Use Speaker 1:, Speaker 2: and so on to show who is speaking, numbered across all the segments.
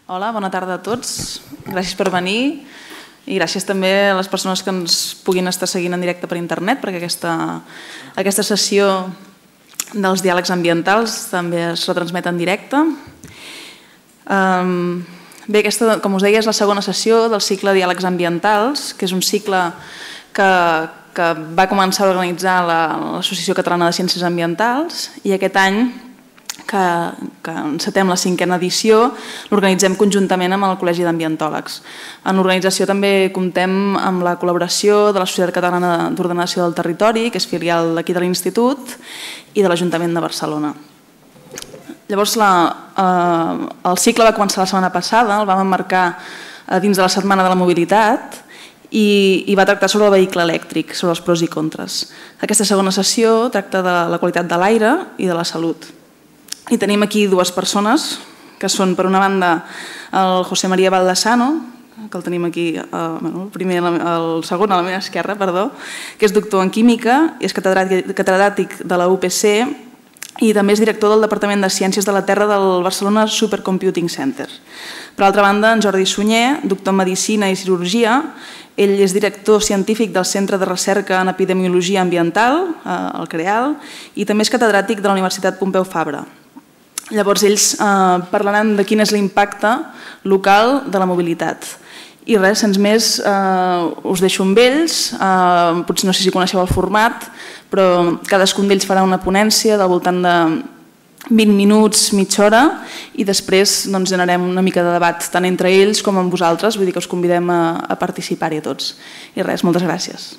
Speaker 1: Hola, bona tarda a tots. Gràcies per venir i gràcies també a les persones que ens puguin estar seguint en directe per internet, perquè aquesta sessió dels diàlegs ambientals també es retransmet en directe. Bé, aquesta, com us deia, és la segona sessió del cicle Diàlegs Ambientals, que és un cicle que va començar a organitzar l'Associació Catalana de Ciències Ambientals i aquest any, que encetem la 5a edició, l'organitzem conjuntament amb el Col·legi d'Ambientòlegs. En l'organització també comptem amb la col·laboració de la Societat Catalana d'Ordenació del Territori, que és filial d'aquí de l'Institut, i de l'Ajuntament de Barcelona. Llavors, el cicle va començar la setmana passada, el vam emmarcar dins de la Setmana de la Mobilitat i va tractar sobre el vehicle elèctric, sobre els pros i contres. Aquesta segona sessió tracta de la qualitat de l'aire i de la salut. I tenim aquí dues persones, que són, per una banda, el José María Baldasano, que el tenim aquí, el segon a la meva esquerra, perdó, que és doctor en Química, és catedràtic de la UPC i també és director del Departament de Ciències de la Terra del Barcelona Supercomputing Center. Per altra banda, en Jordi Sunyer, doctor en Medicina i Cirurgia, ell és director científic del Centre de Recerca en Epidemiologia Ambiental, el CREAL, i també és catedràtic de la Universitat Pompeu Fabra. Llavors, ells parlaran de quin és l'impacte local de la mobilitat. I res, sense més, us deixo amb ells. Potser no sé si coneixeu el format, però cadascun d'ells farà una ponència del voltant de 20 minuts, mitja hora, i després generem una mica de debat tant entre ells com amb vosaltres, vull dir que us convidem a participar-hi a tots. I res, moltes gràcies.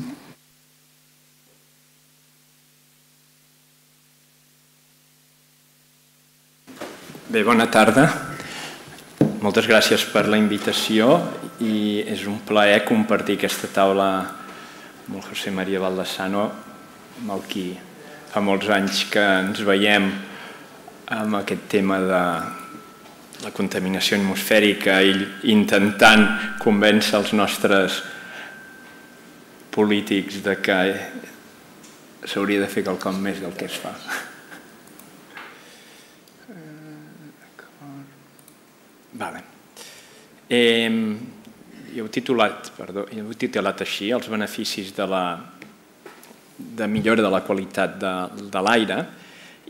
Speaker 2: Bé, bona tarda. Moltes gràcies per la invitació i és un plaer compartir aquesta taula amb el José María Baldasano, amb el qui fa molts anys que ens veiem amb aquest tema de la contaminació atmosfèrica i intentant convèncer els nostres polítics de que s'hauria de fer quelcom més del que es fa. Jo he titulat així els beneficis de millora de la qualitat de l'aire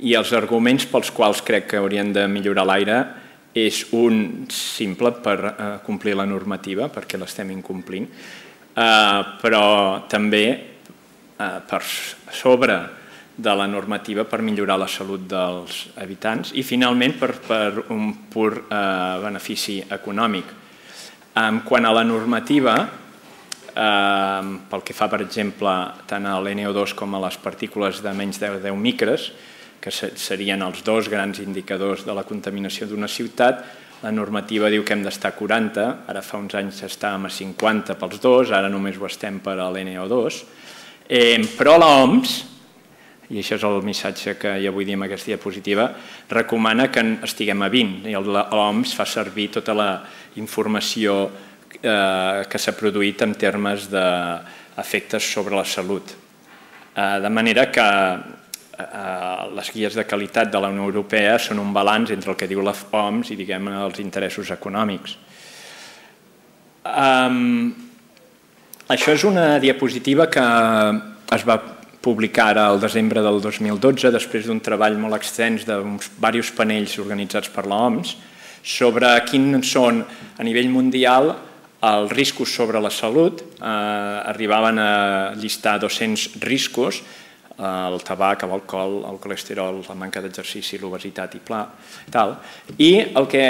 Speaker 2: i els arguments pels quals crec que haurien de millorar l'aire és un simple per complir la normativa, perquè l'estem incomplint, però també per sobre de la normativa per millorar la salut dels habitants i, finalment, per un pur benefici econòmic. Quant a la normativa, pel que fa, per exemple, tant a l'NO2 com a les partícules de menys de 10 micres, que serien els dos grans indicadors de la contaminació d'una ciutat, la normativa diu que hem d'estar a 40, ara fa uns anys estàvem a 50 pels dos, ara només ho estem per a l'NO2, però l'OMS, i això és el missatge que jo vull dir amb aquesta diapositiva, recomana que estiguem a 20 i l'OMS fa servir tota la informació que s'ha produït en termes d'efectes sobre la salut. De manera que les guies de qualitat de la Unió Europea són un balanç entre el que diu l'OMS i, diguem, els interessos econòmics. Això és una diapositiva que es va publicar ara al desembre del 2012, després d'un treball molt extens d'uns diversos panells organitzats per l'OMS, sobre quins són, a nivell mundial, els riscos sobre la salut. Arribaven a llistar 200 riscos, el tabac, l'alcohol, el colesterol, la manca d'exercici, l'obesitat i tal. I el que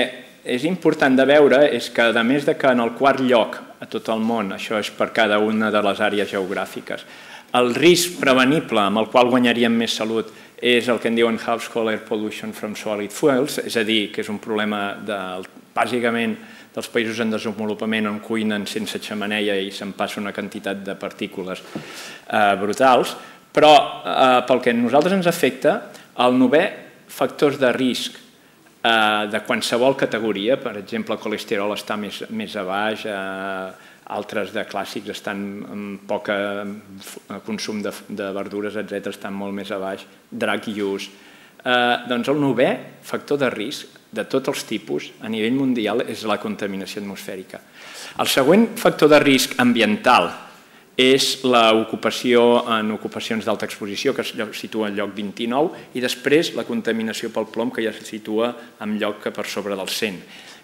Speaker 2: és important de veure és que, a més que en el quart lloc a tot el món, això és per cada una de les àrees geogràfiques, el risc prevenible amb el qual guanyaríem més salut és el que en diuen household air pollution from solid fuels, és a dir, que és un problema bàsicament dels països en desenvolupament on cuinen sense xemeneia i se'n passa una quantitat de partícules brutals, però pel que a nosaltres ens afecta, el 9è factors de risc de qualsevol categoria, per exemple, el colesterol està més a baix, altres de clàssics estan amb poc consum de verdures, etc., estan molt més a baix, drug use. Doncs el 9è factor de risc de tots els tipus a nivell mundial és la contaminació atmosfèrica. El següent factor de risc ambiental és l'ocupació en ocupacions d'alta exposició, que es situa en lloc 29, i després la contaminació pel plom, que ja se situa en lloc que per sobre del 100.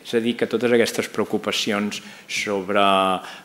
Speaker 2: És a dir, que totes aquestes preocupacions sobre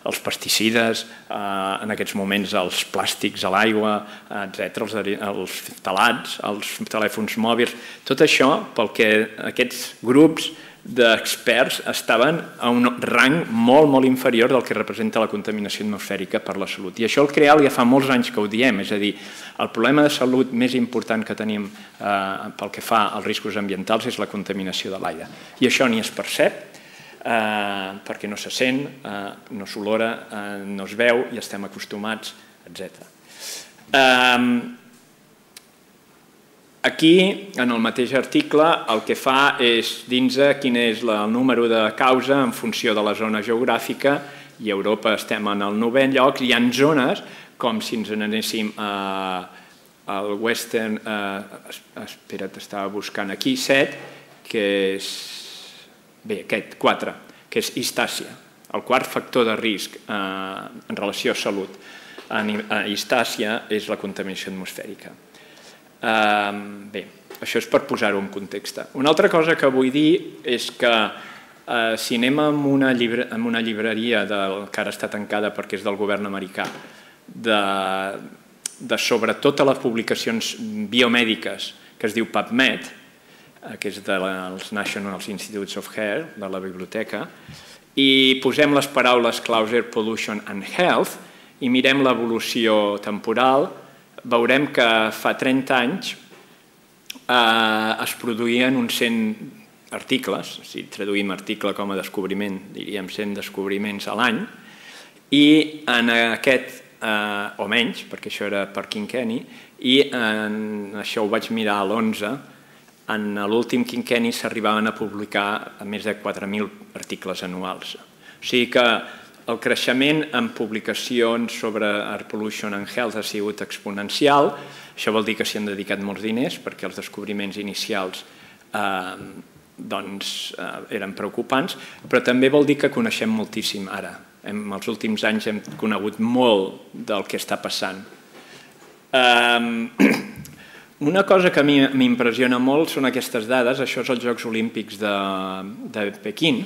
Speaker 2: els pesticides, en aquests moments els plàstics a l'aigua, etc., els phthalats, els telèfons mòbils, tot això pel que aquests grups d'experts estaven a un rang molt, molt inferior del que representa la contaminació atmosfèrica per la salut. I això el CREAL ja fa molts anys que ho diem, és a dir, el problema de salut més important que tenim pel que fa als riscos ambientals és la contaminació de l'aire. I això ni es percep, perquè no se sent, no s'olora, no es veu i estem acostumats, etc. Aquí, en el mateix article, el que fa és dins quin és el número de causa en funció de la zona geogràfica, i a Europa estem en el 9è lloc, hi ha zones, com si ens n'anéssim al Western, espera't, estava buscant aquí, 7, que és, bé, aquest, 4, que és East Asia, el quart factor de risc en relació a salut a East Asia és la contaminació atmosfèrica. Bé, això és per posar-ho en context. Una altra cosa que vull dir és que si anem a una llibreria que ara està tancada perquè és del govern americà, de sobre totes les publicacions biomèdiques que es diu PubMed, que és dels National Institutes of Health, de la biblioteca, i posem les paraules claus Air Pollution and Health i mirem l'evolució temporal, veurem que fa 30 anys es produïen uns 100 articles, si traduïm article com a descobriment, diríem 100 descobriments a l'any, i en aquest, o menys, perquè això era per quinquenni, i això ho vaig mirar a l'11, en l'últim quinquenni s'arribaven a publicar més de 4.000 articles anuals. O sigui que el creixement en publicacions sobre Air Pollution and Health ha sigut exponencial. Això vol dir que s'hi han dedicat molts diners perquè els descobriments inicials eren preocupants, però també vol dir que coneixem moltíssim ara. En els últims anys hem conegut molt del que està passant. Una cosa que a mi m'impressiona molt són aquestes dades. Això és els Jocs Olímpics de Pequín,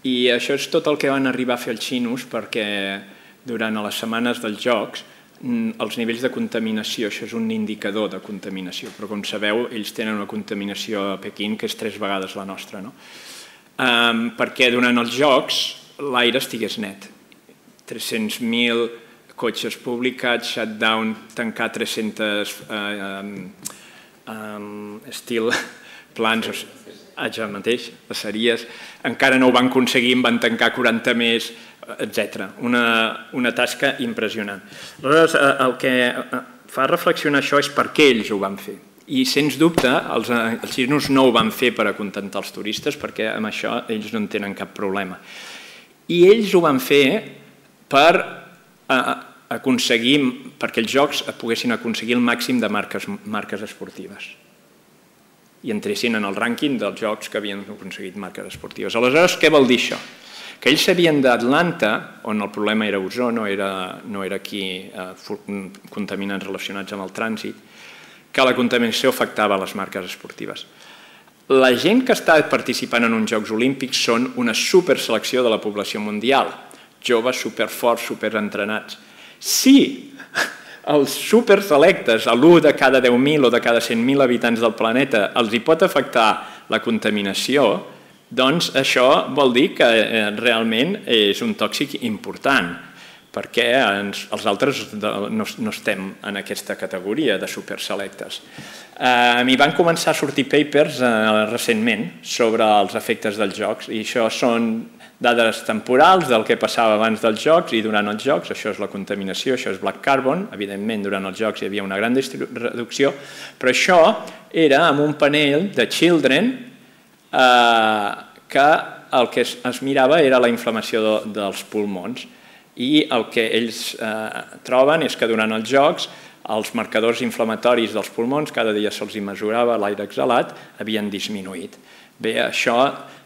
Speaker 2: i això és tot el que van arribar a fer els xinos perquè durant les setmanes dels Jocs els nivells de contaminació, això és un indicador de contaminació, però com sabeu ells tenen una contaminació a Pequín que és 3 vegades la nostra, perquè durant els Jocs l'aire estigués net. 300.000 cotxes publicats, shutdown, tancar 300 steel plants, ja mateix, passaries, encara no ho van aconseguir, en van tancar 40 més, etc. Una tasca impressionant. Aleshores, el que fa reflexionar això és per què ells ho van fer. I, sens dubte, els xinos no ho van fer per acontentar els turistes, perquè amb això ells no en tenen cap problema. I ells ho van fer per aconseguir, perquè els jocs poguessin aconseguir el màxim de marques esportives i entressin en el rànquing dels jocs que havien aconseguit marques esportives. Aleshores, què vol dir això? Que ells sabien d'Atlanta, on el problema era ozó, no era aquí contaminants relacionats amb el trànsit, que la contaminació afectava les marques esportives. La gent que està participant en uns Jocs Olímpics són una superselecció de la població mundial, joves superforts, superentrenats. Si els superselectes, l'1 de cada 10.000 o de cada 100.000 habitants del planeta, els hi pot afectar la contaminació, doncs això vol dir que realment és un tòxic important, perquè els altres no estem en aquesta categoria de superselectes. M'hi van començar a sortir papers recentment sobre els efectes dels jocs, i això són dades temporals del que passava abans dels jocs i durant els jocs. Això és la contaminació, això és black carbon. Evidentment, durant els jocs hi havia una gran reducció, però això era amb un panell de Children que el que es mirava era la inflamació dels pulmons, i el que ells troben és que durant els jocs els marcadors inflamatoris dels pulmons, cada dia se'ls mesurava l'aire exhalat, havien disminuït. Bé, això,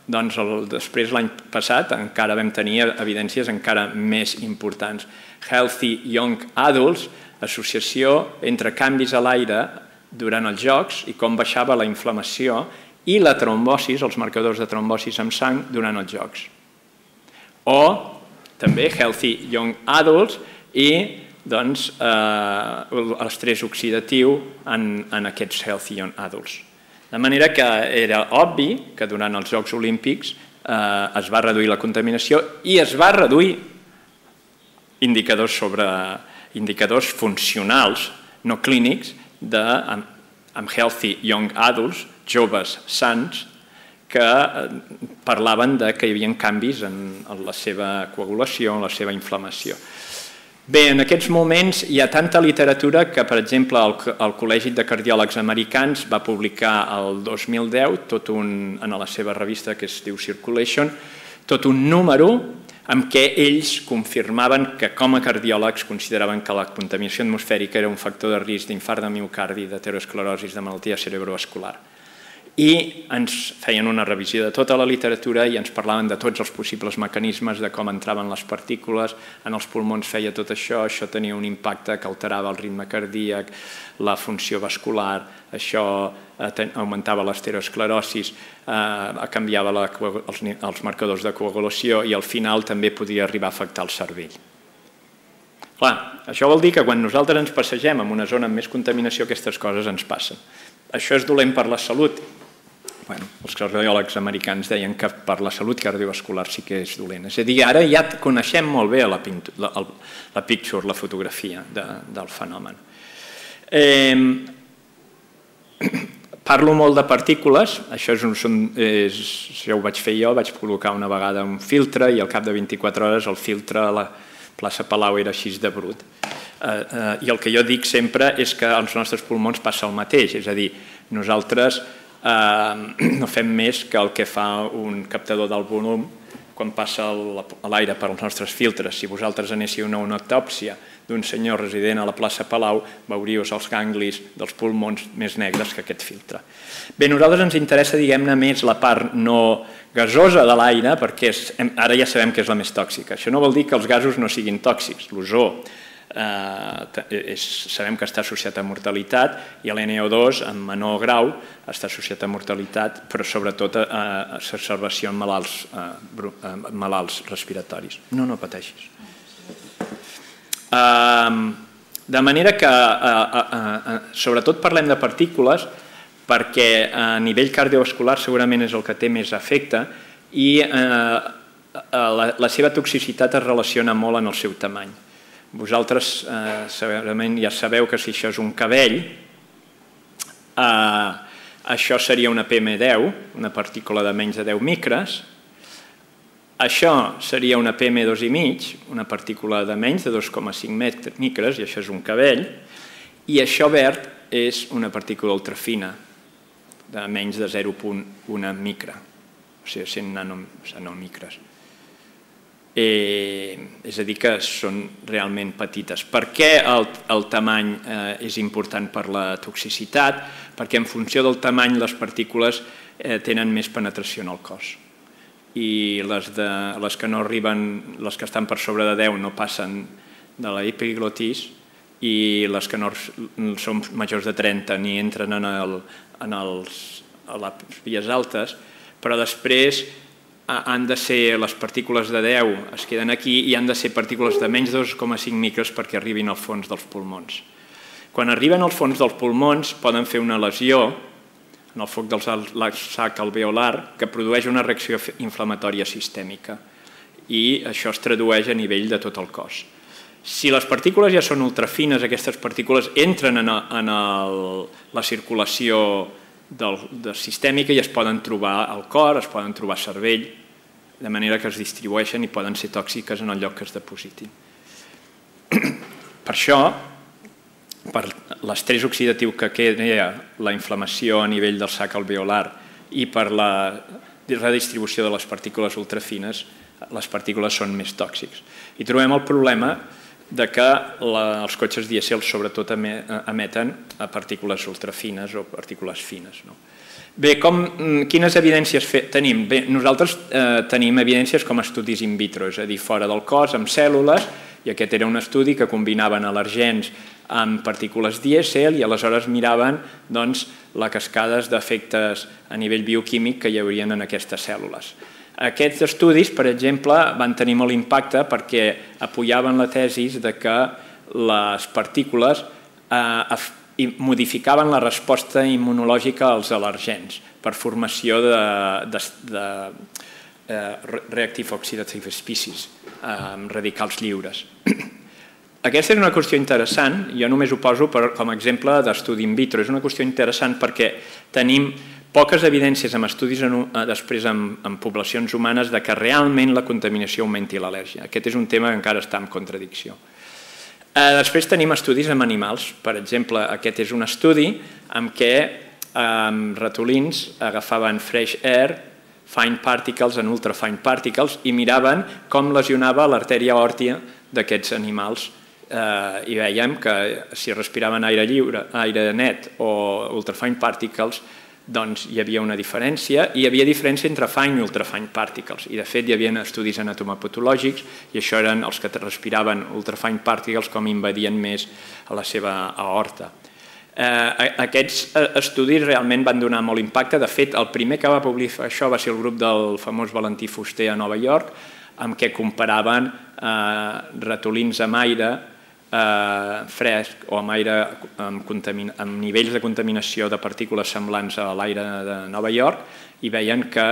Speaker 2: doncs, després l'any passat encara vam tenir evidències encara més importants. Healthy Young Adults, associació entre canvis a l'aire durant els jocs i com baixava la inflamació i la trombosis, els marcadors de trombosis amb sang durant els jocs. O també Healthy Young Adults i l'estrès oxidatiu en aquests Healthy Young Adults. De manera que era obvi que durant els Jocs Olímpics es va reduir la contaminació i es va reduir indicadors funcionals, no clínics, amb Healthy Young Adults, joves sants, que parlaven que hi havia canvis en la seva coagulació, en la seva inflamació. Bé, en aquests moments hi ha tanta literatura que, per exemple, el Col·legi de Cardiòlegs Americans va publicar el 2010, en la seva revista que es diu Circulation, tot un número amb què ells confirmaven que com a cardiòlegs consideraven que la contaminació atmosfèrica era un factor de risc d'infart de miocardi, d'aterosclerosi, de malaltia cerebrovascular. I ens feien una revisió de tota la literatura i ens parlaven de tots els possibles mecanismes, de com entraven les partícules, en els pulmons feia tot això, això tenia un impacte que alterava el ritme cardíac, la funció vascular, això augmentava l'esterosclerosi, canviava els marcadors de coagulació i al final també podia arribar a afectar el cervell. Clar, això vol dir que quan nosaltres ens passegem en una zona amb més contaminació aquestes coses ens passen. Això és dolent per la salut. Els cardiòlegs americans deien que per la salut cardiovascular sí que és dolent. És a dir, ara ja coneixem molt bé la picture, la fotografia del fenomen. Parlo molt de partícules, això ho vaig fer jo, vaig col·locar una vegada un filtre i al cap de 24 hores el filtre a la plaça Palau era així de brut. I el que jo dic sempre és que als nostres pulmons passa el mateix, és a dir, nosaltres no fem més que el que fa un captador del volum quan passa l'aire per als nostres filtres. Si vosaltres anéssiu a una autòpsia d'un senyor resident a la plaça Palau, veuríeu els ganglis dels pulmons més negres que aquest filtre. Bé, a nosaltres ens interessa, diguem-ne, més la part no gasosa de l'aire, perquè ara ja sabem que és la més tòxica. Això no vol dir que els gasos no siguin tòxics. L'ozó sabem que està associat a mortalitat i l'NO2 en menor grau està associat a mortalitat, però sobretot a exacerbació en malalts respiratoris. No pateixis. De manera que sobretot parlem de partícules perquè a nivell cardiovascular segurament és el que té més efecte i la seva toxicitat es relaciona molt en el seu tamany. Vosaltres segurament ja sabeu que si això és un cabell, això seria una PM10, una partícula de menys de 10 micres, això seria una PM2,5, una partícula de menys de 2,5 micres, i això és un cabell, i això verd és una partícula ultrafina, de menys de 0,1 micra, o sigui, 100 nanomicres. És a dir, que són realment petites. Per què el tamany és important per la toxicitat? Perquè en funció del tamany les partícules tenen més penetració en el cos. I les que no arriben, les que estan per sobre de 10 no passen de l'epiglotis i les que no són majors de 30 ni entren a les vies altes, però després han de ser les partícules de 10 es queden aquí i han de ser partícules de menys de 2,5 micres perquè arribin al fons dels pulmons. Quan arriben al fons dels pulmons poden fer una lesió en el foc del sac alveolar que produeix una reacció inflamatòria sistèmica i això es tradueix a nivell de tot el cos. Si les partícules ja són ultrafines, aquestes partícules entren en la circulació sistèmica i es poden trobar al cor, es poden trobar al cervell, de manera que es distribueixen i poden ser tòxiques en el lloc que es depositin. Per això, per l'estrès oxidatiu que crea la inflamació a nivell del sac alveolar i per la redistribució de les partícules ultrafines, les partícules són més tòxics. I trobem el problema que els cotxes dièsel sobretot emeten partícules ultrafines o partícules fines. Bé, quines evidències tenim? Bé, nosaltres tenim evidències com estudis in vitro, és a dir, fora del cos, amb cèl·lules, i aquest era un estudi que combinaven al·lergens amb partícules dièsel i aleshores miraven les cascades d'efectes a nivell bioquímic que hi haurien en aquestes cèl·lules. Aquests estudis, per exemple, van tenir molt impacte perquè apoyaven la tesi que les partícules modificaven la resposta immunològica als al·lergens per formació de reactive oxidative species, radicals lliures. Aquesta és una qüestió interessant, jo només ho poso com a exemple d'estudi in vitro. És una qüestió interessant perquè tenim poques evidències amb estudis després en poblacions humanes que realment la contaminació augmenti l'al·lèrgia. Aquest és un tema que encara està en contradicció. Després tenim estudis amb animals. Per exemple, aquest és un estudi en què ratolins agafaven fresh air, fine particles and ultrafine particles i miraven com lesionava l'artèria òrtia d'aquests animals i veiem que si respiraven aire lliure, aire net o ultrafine particles, doncs hi havia una diferència, i hi havia diferència entre fine i ultrafine particles, i de fet hi havia estudis anatomopatològics i això eren els que respiraven ultrafine particles com invadien més a la seva aorta. Aquests estudis realment van donar molt impacte. De fet, el primer que va publicar això va ser el grup del famós Valentí Fuster a Nova York, amb què comparaven ratolins amb aire fresc o amb aire amb nivells de contaminació de partícules semblants a l'aire de Nova York i veien que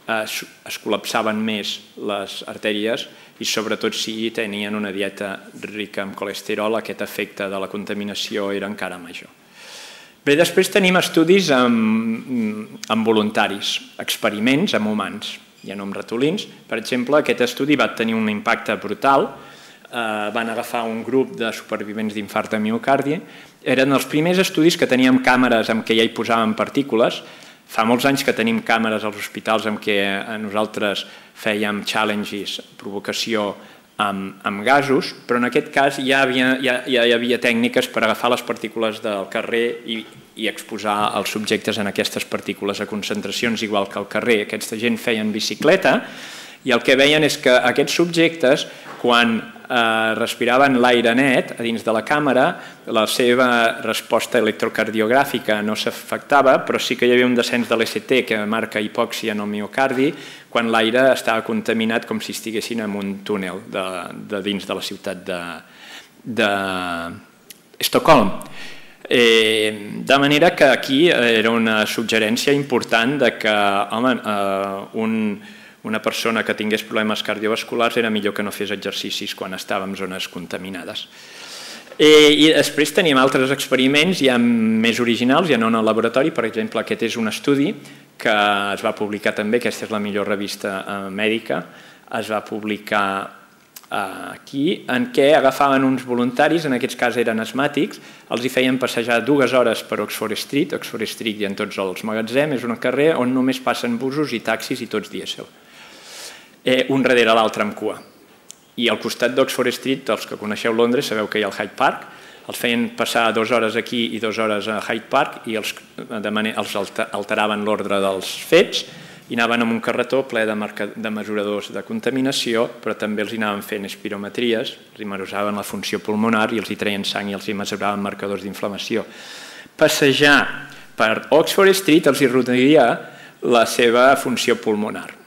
Speaker 2: es col·lapsaven més les artèries i sobretot si tenien una dieta rica en colesterol, aquest efecte de la contaminació era encara major. Bé, després tenim estudis amb voluntaris, experiments amb humans, ja no amb ratolins. Per exemple, aquest estudi va tenir un impacte brutal. Van agafar un grup de supervivents d'infart de miocardi. Eren els primers estudis que teníem càmeres amb què ja hi posàvem partícules. Fa molts anys que tenim càmeres als hospitals amb què nosaltres fèiem challenges, provocació amb gasos, però en aquest cas ja hi havia tècniques per agafar les partícules del carrer i exposar els subjectes en aquestes partícules a concentracions igual que al carrer. Aquesta gent feien bicicleta i el que veien és que aquests subjectes, quan respiraven l'aire net a dins de la càmera, la seva resposta electrocardiogràfica no s'afectava, però sí que hi havia un descens de l'ECT que marca hipòxia en el miocardi quan l'aire estava contaminat com si estiguessin en un túnel de dins de la ciutat d'Estocolm. De manera que aquí era una suggerència important que una persona que tingués problemes cardiovasculars era millor que no fes exercicis quan estava en zones contaminades. I després tenim altres experiments ja més originals, ja no en el laboratori. Per exemple, aquest és un estudi que es va publicar també, aquesta és la millor revista mèdica, es va publicar aquí, en què agafaven uns voluntaris, en aquest cas eren asmàtics, els hi feien passejar 2 hores per Oxford Street hi ha en tots els magatzems, és un carrer on només passen busos i taxis i tots dièsel. Un darrere l'altre amb cua. I al costat d'Oxford Street, els que coneixeu Londres, sabeu que hi ha el Hyde Park, els feien passar 2 hores aquí i 2 hores a Hyde Park i els alteraven l'ordre dels fets i anaven amb un carretó ple de mesuradors de contaminació, però també els anaven fent espirometries, els mesuraven la funció pulmonar i els hi treien sang i els hi mesuraven marcadors d'inflamació. Passejar per Oxford Street els hi reduiria la seva funció pulmonar.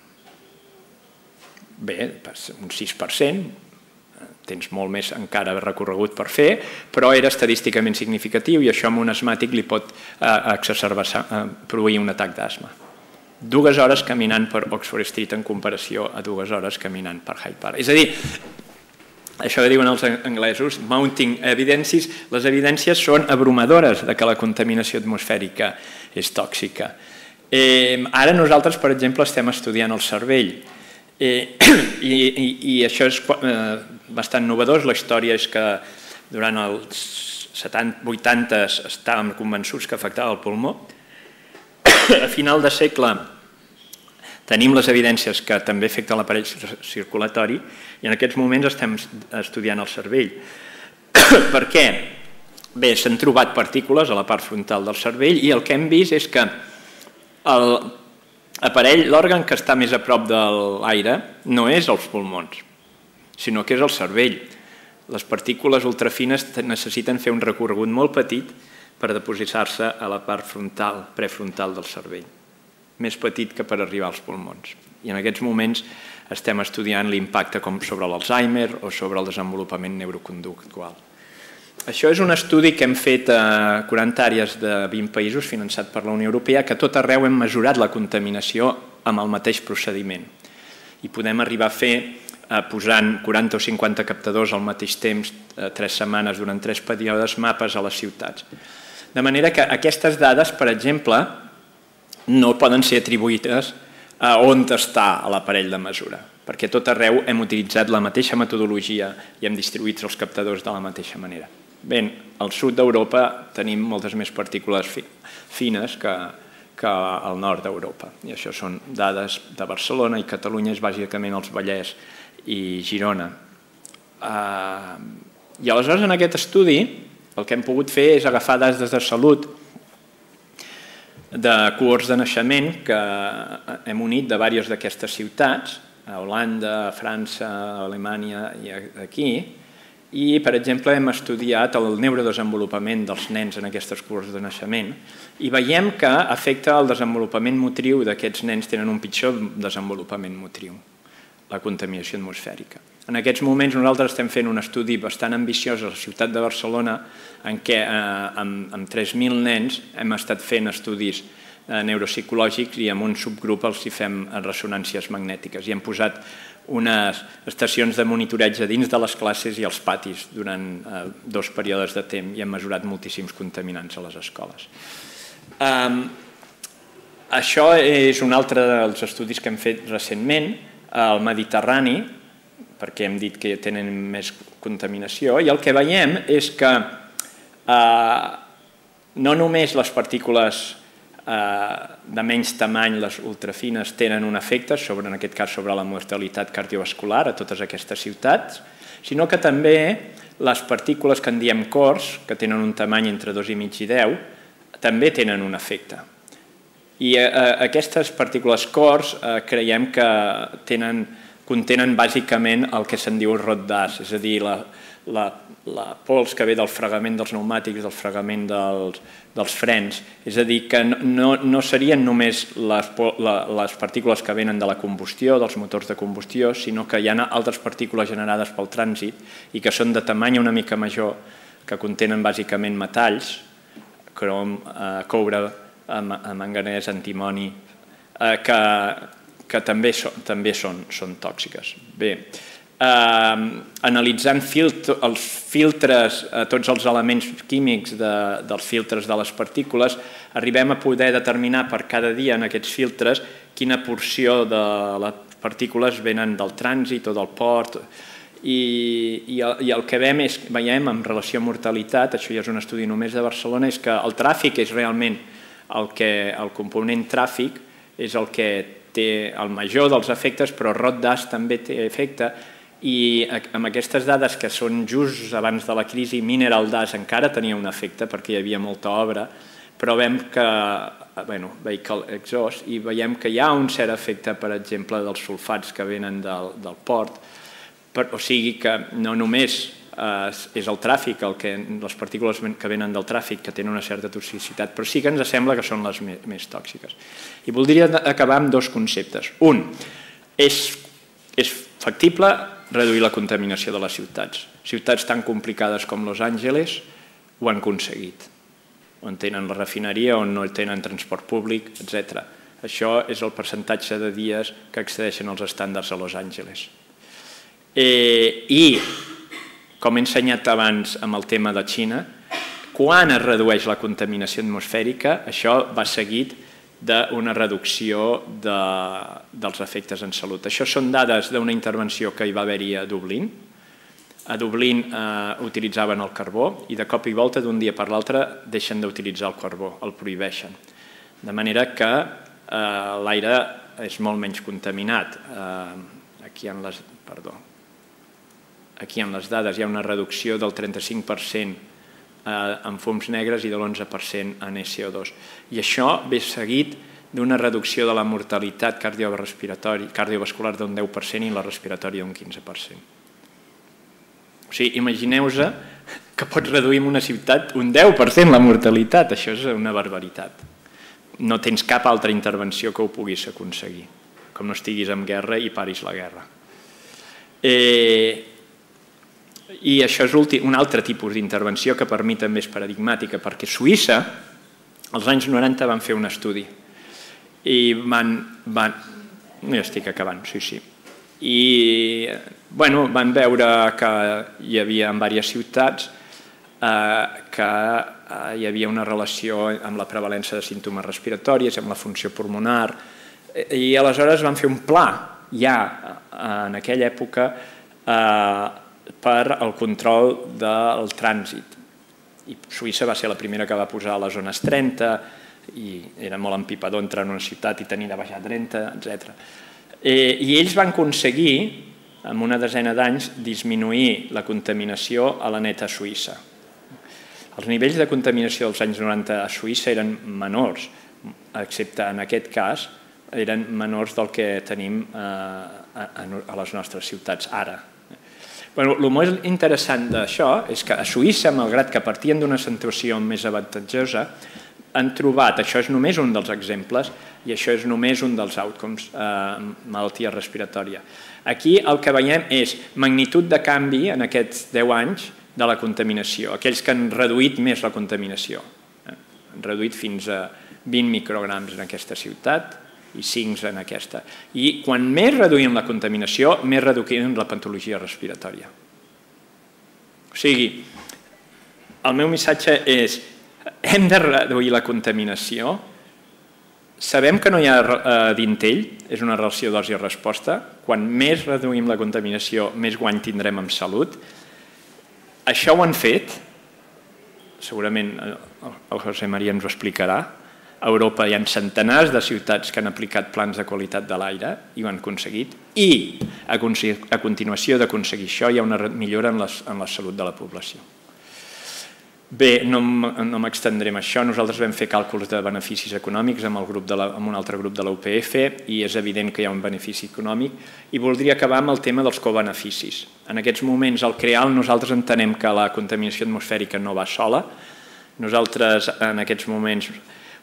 Speaker 2: Bé, un 6%, tens molt més encara recorregut per fer, però era estadísticament significatiu i això amb un asmàtic li pot produir un atac d'asma. 2 hores caminant per Oxford Street en comparació a 2 hores caminant per Hyde Park. És a dir, això que diuen els anglesos, mounting evidences, les evidències són abrumadores que la contaminació atmosfèrica és tòxica. Ara nosaltres, per exemple, estem estudiant el cervell i això és bastant novedós. La història és que durant els 80 estàvem convençuts que afectava el pulmó. A final de segle Tenim les evidències que també afecten l'aparell circulatori i en aquests moments estem estudiant el cervell. Per què? Bé, s'han trobat partícules a la part frontal del cervell i el que hem vist és que l'aparell, l'òrgan que està més a prop de l'aire, no és els pulmons, sinó que és el cervell. Les partícules ultrafines necessiten fer un recorregut molt petit per depositar-se a la part frontal, prefrontal del cervell. Més petit que per arribar als pulmons. I en aquests moments estem estudiant l'impacte com sobre l'Alzheimer o sobre el desenvolupament neuroconductual. Això és un estudi que hem fet a 40 àrees de 20 països finançat per la Unió Europea, que a tot arreu hem mesurat la contaminació amb el mateix procediment. I podem arribar a fer posant 40 o 50 captadors al mateix temps, 3 setmanes durant 3 períodes, mapes a les ciutats. De manera que aquestes dades, per exemple, no poden ser atribuïdes a on està l'aparell de mesura, perquè a tot arreu hem utilitzat la mateixa metodologia i hem distribuït els captadors de la mateixa manera. Bé, al sud d'Europa tenim moltes més partícules fines que al nord d'Europa, i això són dades de Barcelona, i Catalunya és bàsicament els Vallès i Girona. I aleshores en aquest estudi el que hem pogut fer és agafar dades de salut de cohorts de naixement que hem unit de diverses d'aquestes ciutats, a Holanda, a França, a Alemanya i aquí, i, per exemple, hem estudiat el neurodesenvolupament dels nens en aquestes cohorts de naixement i veiem que afecta el desenvolupament motriu d'aquests nens, tenen un pitjor desenvolupament motriu, la contaminació atmosfèrica. En aquests moments nosaltres estem fent un estudi bastant ambiciós a la ciutat de Barcelona en què amb 3.000 nens hem estat fent estudis neuropsicològics i amb un subgrup els hi fem ressonàncies magnètiques i hem posat unes estacions de monitoreig a dins de les classes i als patis durant 2 períodes de temps i hem mesurat moltíssims contaminants a les escoles. Això és un altre dels estudis que hem fet recentment al Mediterrani, perquè hem dit que tenen més contaminació, i el que veiem és que no només les partícules de menys tamany, les ultrafines, tenen un efecte, en aquest cas sobre la mortalitat cardiovascular a totes aquestes ciutats, sinó que també les partícules que en diem cors, que tenen un tamany entre 2,5 i 10, també tenen un efecte. I aquestes partícules cors creiem que contenen bàsicament el que se'n diu el rot d'as, és a dir, la pols que ve del fregament dels pneumàtics, del fregament dels frens, és a dir, que no serien només les partícules que venen de la combustió, dels motors de combustió, sinó que hi ha altres partícules generades pel trànsit i que són de tamany una mica major, que contenen bàsicament metalls, crom, coure, manganès, antimoni, que també són tòxiques. Bé, analitzant els filtres, tots els elements químics dels filtres de les partícules, arribem a poder determinar per cada dia en aquests filtres quina porció de les partícules venen del trànsit o del port, i el que veiem en relació a mortalitat, això ja és un estudi només de Barcelona, és que el tràfic és realment el component tràfic, és el que té el major dels efectes, però el rot d'as també té efecte, i amb aquestes dades que són just abans de la crisi, Mineral Das encara tenia un efecte perquè hi havia molta obra, però veiem que, vehicle exhaust, i veiem que hi ha un cert efecte, per exemple, dels sulfats que venen del port, o sigui que no només és el tràfic, les partícules que venen del tràfic que tenen una certa toxicitat, però sí que ens sembla que són les més tòxiques. I voldria acabar amb 2 conceptes. Un, és factible reduir la contaminació de les ciutats. Ciutats tan complicades com Los Angeles ho han aconseguit, on tenen la refineria, on no tenen transport públic, etc. Això és el percentatge de dies que excedeixen els estàndards a Los Angeles. I, com he ensenyat abans amb el tema de Xina, quan es redueix la contaminació atmosfèrica, això va seguit d'una reducció dels efectes en salut. Això són dades d'una intervenció que hi va haver-hi a Dublín. A Dublín utilitzaven el carbó i de cop i volta, d'un dia per l'altre, deixen d'utilitzar el carbó, el prohibeixen. De manera que l'aire és molt menys contaminat. Aquí en les dades hi ha una reducció del 35% en fums negres i de l'11% en SO2. I això ve seguit d'una reducció de la mortalitat cardiovascular d'un 10% i la respiratòria d'un 15%. O sigui, imagineu-vos que pots reduir en una ciutat un 10% la mortalitat. Això és una barbaritat. No tens cap altra intervenció que ho puguis aconseguir, com no estiguis en guerra i paris la guerra. I això és un altre tipus d'intervenció que per mi també és paradigmàtica, perquè Suïssa, als anys 90, van fer un estudi i ja estic acabant, sí. I van veure que hi havia en diverses ciutats que hi havia una relació amb la prevalença de símptomes respiratoris, amb la funció pulmonar, i aleshores van fer un pla ja en aquella època per al control del trànsit. I Suïssa va ser la primera que va posar a les zones 30 i era molt empipador entrar en una ciutat i tenir de baixar 30, etc. I ells van aconseguir, en una desena d'anys, disminuir la contaminació a la neta Suïssa. Els nivells de contaminació dels anys 90 a Suïssa eren menors, excepte en aquest cas, eren menors del que tenim a les nostres ciutats ara. El molt interessant d'això és que a Suïssa, malgrat que partien d'una situació més avantatjosa, han trobat, això és només un dels exemples, i això és només un dels outcomes, malaltia respiratòria. Aquí el que veiem és magnitud de canvi en aquests 10 anys de la contaminació, aquells que han reduït més la contaminació. Han reduït fins a 20 micrograms en aquesta ciutat i 5 en aquesta. I quan més reduïm la contaminació, més reduïm la patologia respiratòria. O sigui, el meu missatge és: hem de reduir la contaminació. Sabem que no hi ha dintell, és una relació dosi-resposta. Quan més reduïm la contaminació, més guany tindrem en salut. Això ho han fet, segurament el José María ens ho explicarà. A Europa hi ha centenars de ciutats que han aplicat plans de qualitat de l'aire i ho han aconseguit. I a continuació d'aconseguir això hi ha una millora en la salut de la població. Bé, no m'extendré en això. Nosaltres vam fer càlculs de beneficis econòmics amb un altre grup de la UPF i és evident que hi ha un benefici econòmic. I voldria acabar amb el tema dels cobeneficis. En aquests moments, al CREAL, nosaltres entenem que la contaminació atmosfèrica no va sola. Nosaltres, en aquests moments,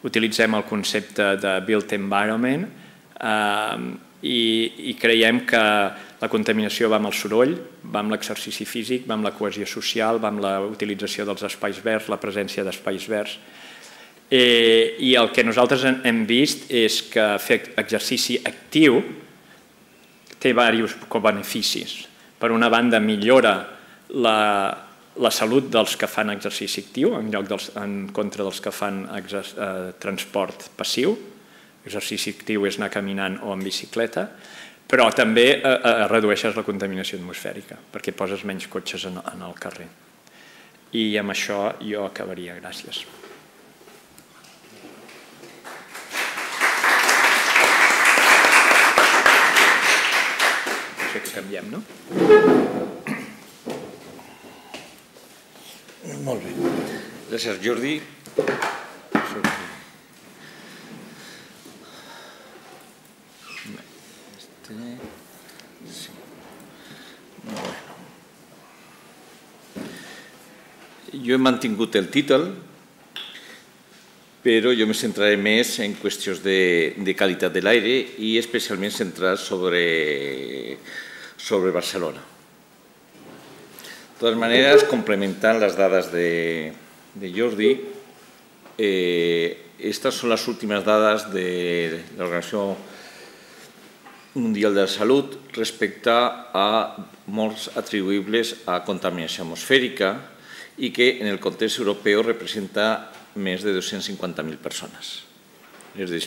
Speaker 2: utilitzem el concepte de built environment i creiem que la contaminació va amb el soroll, va amb l'exercici físic, va amb la cohesió social, va amb la utilització dels espais verds, la presència d'espais verds. I el que nosaltres hem vist és que fer exercici actiu té diversos cobeneficis. Per una banda, millora la salut dels que fan exercici actiu en contra dels que fan transport passiu. Exercici actiu és anar caminant o en bicicleta, però també redueixes la contaminació atmosfèrica perquè poses menys cotxes en el carrer. I amb això jo acabaria. Gràcies. Això que canviem, no?
Speaker 3: Molt bé. Gràcies, Jordi. Jo he mantingut el títol, però jo me centraré més en qüestions de qualitat de l'aire i especialment centrat sobre Barcelona. De totes maneres, complementant les dades de Jordi, estas són les últimes dades de l'Organització Mundial de la Salut respecte a morts atribuïbles a contaminació atmosfèrica i que en el context europeu representa més de 250.000 persones. És a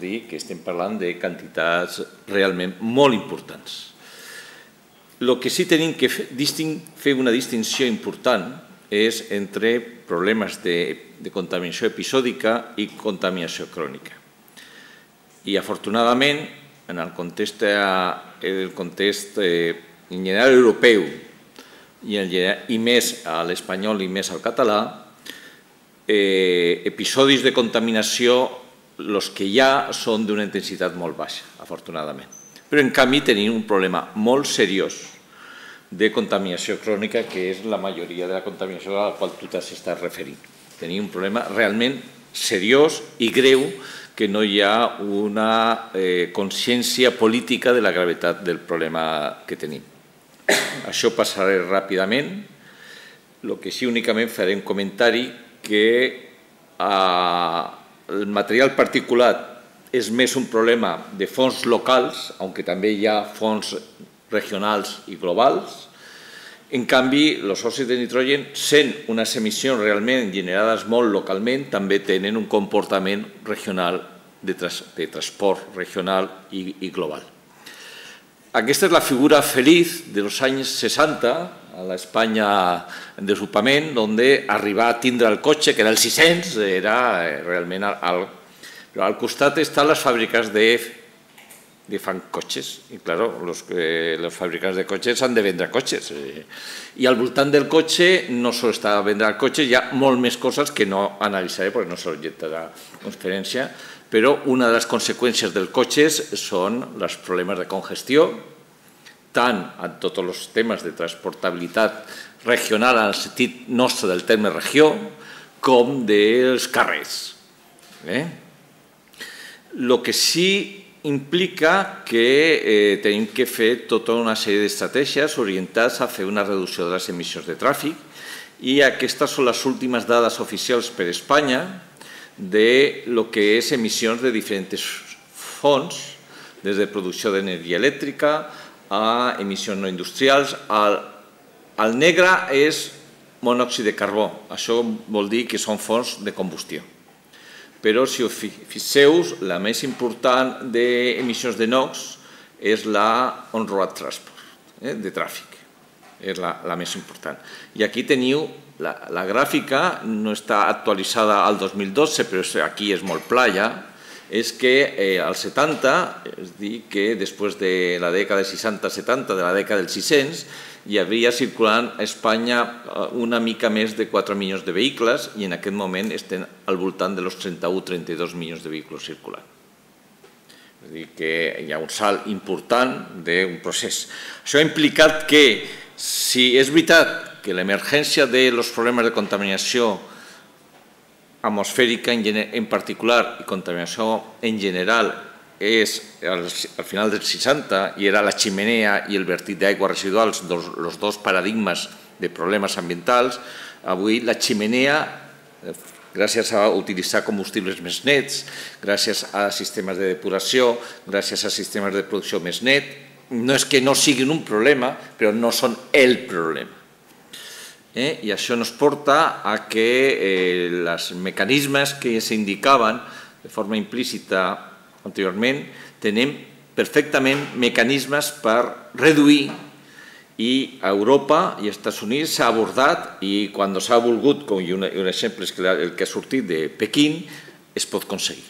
Speaker 3: dir, que estem parlant de quantitats realment molt importants. El que sí tenim que fer una distinció important és entre problemes de contaminació episòdica i contaminació crònica. I afortunadament en el context en general europeu i més a l'espanyol i més al català, episodis de contaminació, els que hi ha, són d'una intensitat molt baixa, afortunadament. Però, en canvi, tenim un problema molt seriós de contaminació crònica, que és la majoria de la contaminació a la qual tu t'estàs referint. Tenim un problema realment seriós i greu, que no hi ha una consciència política de la gravetat del problema que tenim. Això passaré ràpidament. El que sí, únicament faré un comentari que el material particulat és més un problema de fons locals, aunque també hi ha fons regionals i globals. En canvi, els òxids de nitrogen, sent unes emissions realment generades molt localment, també tenen un comportament regional de transport regional i global. Aquesta és la figura feliç dels anys 60, a l'Espanya en desenvolupament, on arribar a tindre el cotxe, que era el 600, era realment alt. Però al costat estan les fàbriques que fan cotxes. I, clar, els fabricants de cotxes han de vendre cotxes. I al voltant del cotxe no sols està a vendre el cotxe, hi ha molt més coses que no analitzaré perquè no és l'objecte de la conferència, però una de les conseqüències dels cotxes són els problemes de congestió, tant en tots els temes de transportabilitat regional en el sentit nostre del terme regió, com dels carrers. El que sí implica que tenim que fer tota una sèrie d'estratègies orientades a fer una reducció de les emissions de tràfic, i aquestes són les últimes dades oficials per Espanya de lo que és emissions de diferents fonts, des de producció d'energia elèctrica a emissions no industrials. El negre és monòxid de carbó, això vol dir que són fonts de combustió. Però, si us fixeu, la més important d'emissions de NOx és la on-road transport, de tràfic. És la més important. I aquí teniu la gràfica, no està actualitzada al 2012, però aquí és molt pla ja, és que als 70, és a dir, que després de la dècada dels 60-70, de la dècada dels 600, hi havia circulant a Espanya una mica més de 4 milions de vehicles i en aquest moment estem al voltant dels 31-32 milions de vehicles circulant. És a dir, que hi ha un salt important d'un procés. Això ha implicat que, si és veritat que l'emergència dels problemes de contaminació atmosfèrica en particular i contaminació en general és al final dels 60 i era la ximenea i el vertit d'aigua residuals, els dos paradigmes de problemes ambientals, avui la ximenea, gràcies a utilitzar combustibles més nets, gràcies a sistemes de depuració, gràcies a sistemes de producció més net, no és que no siguin un problema, però no són el problema. I això ens porta a que els mecanismes que s'indicaven de forma implícita anteriorment, tenim perfectament mecanismes per reduir, i a Europa i als Estats Units s'ha abordat, i quan s'ha volgut, com un exemple és el que ha sortit de Pequín, es pot aconseguir.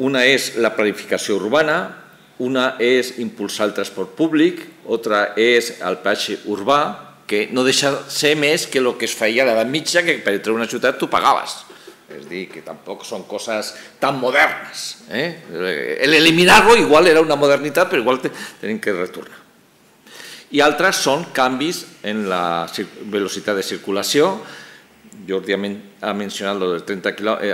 Speaker 3: Una és la planificació urbana, una és impulsar el transport públic, altra és el peatge urbà, que no deixa de ser més que el que es feia a l'edat mitja, que per entrar a una ciutat tu pagaves. És a dir, que tampoc són coses tan modernes. Eliminar-lo igual era una modernitat, però igual tenim que retornar. I altres són canvis en la velocitat de circulació. Jordi ha mencionat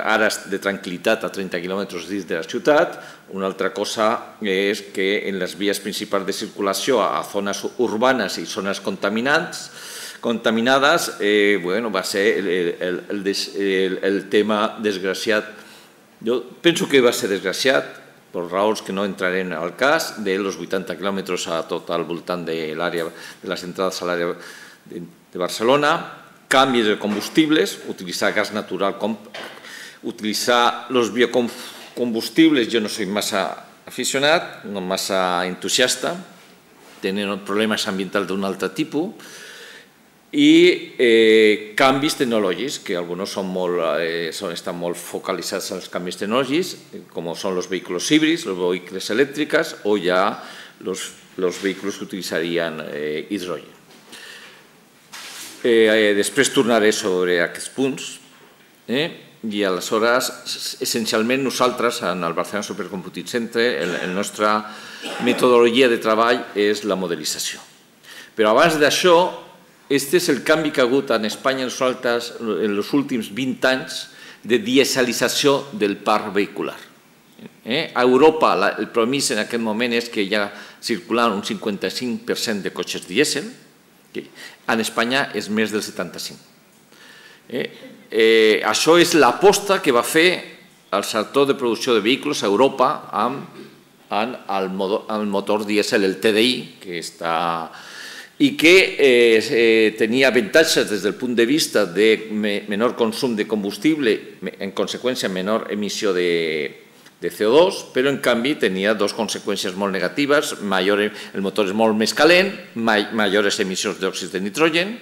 Speaker 3: ares de tranquil·litat a 30 quilòmetres dins de la ciutat. Una altra cosa és que en les vies principals de circulació a zones urbanes i zones contaminades va ser el tema desgraciat. Jo penso que va ser desgraciat per raons que no entrarem al cas, dels 80 quilòmetres a tot al voltant de les entrades a l'àrea de Barcelona, canvis de combustibles, utilitzar gas natural, utilitzar els biocombustibles. Jo no soc massa aficionat, no massa entusiasta, tenen problemes ambientals d'un altre tipus, i canvis tecnològics, que alguns estan molt focalitzats en els canvis tecnològics, com són els vehicles híbrids, els vehicles elèctrics o ja els vehicles que utilitzarien hidrogen. Després tornaré sobre aquests punts i aleshores, essencialment nosaltres, en el Barcelona Supercomputing Center, la nostra metodologia de treball és la modelització. Però abans d'això, aquest és el canvi que ha hagut en Espanya en els últims 20 anys de dieselització del parc vehicular. A Europa, el promís en aquest moment és que hi ha circulant un 55% de cotxes dièsel, en Espanya és més del 75%. Això és l'aposta que va fer el sector de producció de vehicles a Europa amb el motor dièsel, el TDI, que està i que tenia avantatges des del punt de vista de menor consum de combustible, en conseqüència menor emissió de CO2, però en canvi tenia dues conseqüències molt negatives: el motor és molt més calent, majors emissions d'òxid de nitrogen,